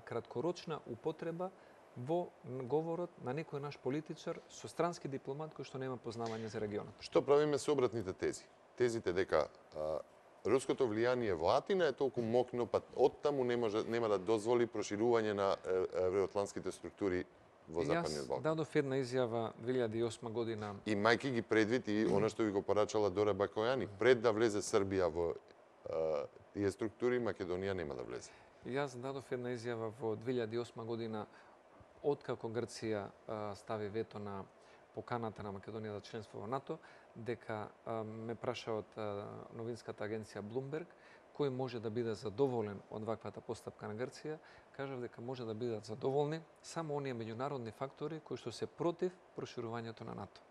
краткорочна употреба во говорот на некој наш политичар со странски дипломат кој што нема познавање за регионот. Што правиме со обратните тези? Тезите дека руското влијание во Атина е толку мокно, па оттаму нема да дозволи проширување на евроатлантските структури во Западниот Балкан. Јас дадов една изјава 2008 година. И мајки ги предвид и она што ви го порачала Дора Бакојани, пред да влезе Србија во тие структури, Македонија нема да влезе. Јас дадов една изјава во 2008 година откако Грција стави вето на поканата на Македонија за членство во НАТО, дека ме праша од новинската агенција Bloomberg, кој може да биде задоволен од ваквата постапка на Грција, кажав дека може да бидат задоволни само оние меѓународни фактори кои што се против проширувањето на НАТО.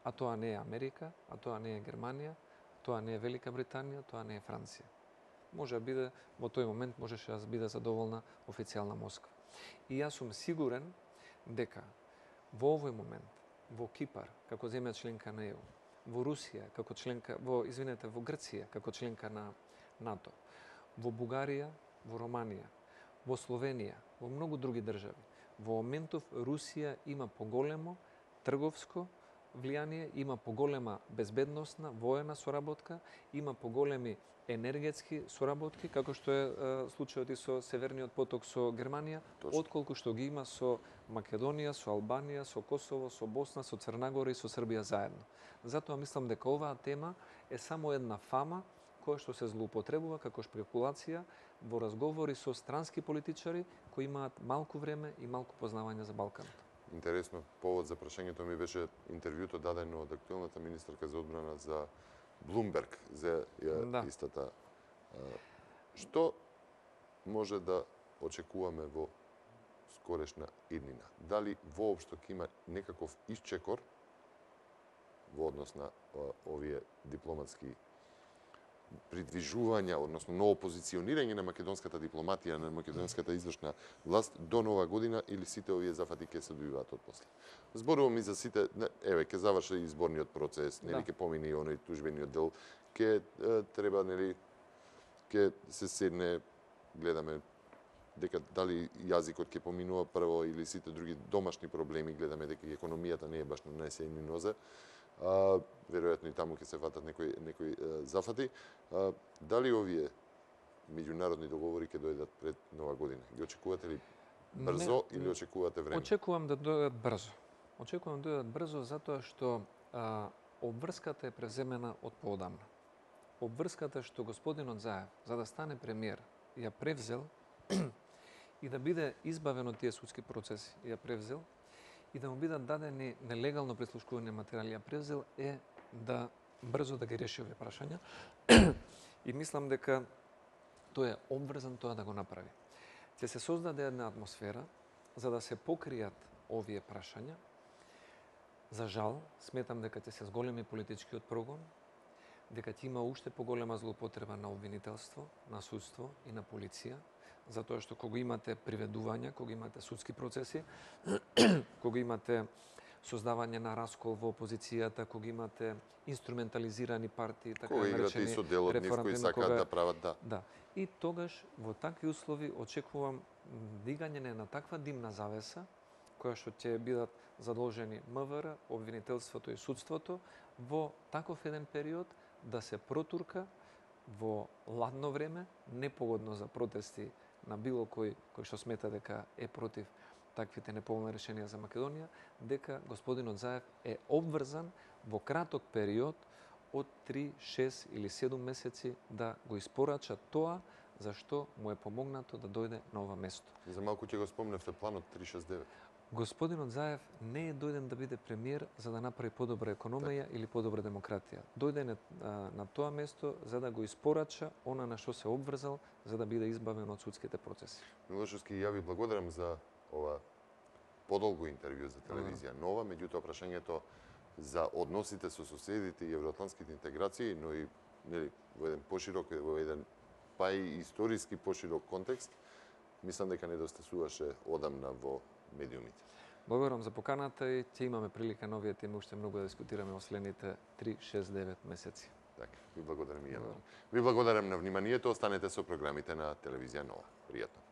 А тоа не е Америка, а тоа не е Германија, тоа не е Велика Британија, тоа не е Франција. Може да биде, во тој момент можеше да биде задоволна официјална Москва. И јас сум сигурен дека во овој момент, во Кипар, како земја членка на ЕУ, во Русија, како членка, во Грција, како членка на НАТО, во Бугарија, во Романија, во Словенија, во многу други држави, во моментов Русија има поголемо трговско влијание, има поголема безбедносна, воена соработка, има поголеми енергетски соработки, како што е случајот и со Северниот поток со Германија, отколку што ги има со Македонија, со Албанија, со Косово, со Босна, со Црна Гора и со Србија заедно. Затоа мислам дека оваа тема е само една фама која што се злоупотребува како шпекулација во разговори со странски политичари кои имаат малку време и малку познавање за Балканот. Интересно, повод за прашањето ми беше интервјуто дадено од актуелната министерка за одбрана за Bloomberg за истата. Што може да очекуваме во скорешна иднина? Дали воопшто ќе има некаков исчекор во однос на овие дипломатски придвижувања, односно ново позиционирање на македонската дипломатија, на македонската извршна власт до нова година, или сите овие зафати ќе се дојдуваат од после? Зборувам и за сите, еве, ќе заврши изборниот процес, нели, ќе помине и оној тужбениот дел, ќе треба, нели, ќе се седне, гледаме дека дали јазикот ќе поминува прво или сите други домашни проблеми, гледаме дека и економијата не е баш на најсејни нозе. Веројатно и таму ќе се фатат некои зафати. Дали овие меѓународни договори ќе дојдат пред нова година? Ги очекувате ли брзо или очекувате време? Очекувам да дојдат брзо. Очекувам да дојдат брзо затоа што обврската е преземена од поодамна. Обврската што господинот Заев, за да стане премиер, ја превзел и да биде избавен од тие судски процеси, ја превзел и да му бидат дадени нелегално прислушкувани материјали, ја превзел е да брзо да ги реши овие прашања. И мислам дека тој е обврзан тоа да го направи. Ќе се создаде една атмосфера за да се покријат овие прашања. За жал, сметам дека ќе се зголеми политичкиот прогон, дека ќе има уште поголема злоупотреба на обвинителство, на судство и на полиција, затоа што кога имате приведувања, кога имате судски процеси, кога имате создавање на раскол во опозицијата, кога имате инструментализирани партии, така наречени, кога играте и со дел од нив кои сакаат да прават, да. И тогаш во такви услови очекувам дигање на таква димна завеса, која што ќе бидат задолжени МВР, обвинителството и судството во таков еден период да се протурка во ладно време, непогодно за протести на било кој што смета дека е против таквите неповолни решенија за Македонија, дека господинот Заев е обврзан во краток период од 3, 6 или 7 месеци да го испорача тоа за што му е помогнато да дојде на ова место. За малку ќе го спомневте планот 369. Господинот Заев не е дојден да биде премиер за да направи подобра економија или подобра демократија. Дојде на тоа место за да го испорача она на што се обврзал за да биде избавен од судските процеси. Милошовски, ја ви благодарам за ова подолго интервју за телевизија Нова, меѓутоа прашањето за односите со соседите и евроатлантските интеграции, но и во еден поширок, во еден па и историски поширок контекст, мислам дека недостасуваше одамна во медиумите. Благодарам за поканата и ќе имаме прилика на овие теми уште многу да дискутираме во следните 3-6-9 месеци. Така, ви благодарам и ја. Ви благодарам на вниманието, останете со програмите на телевизија Нова. Пријатно.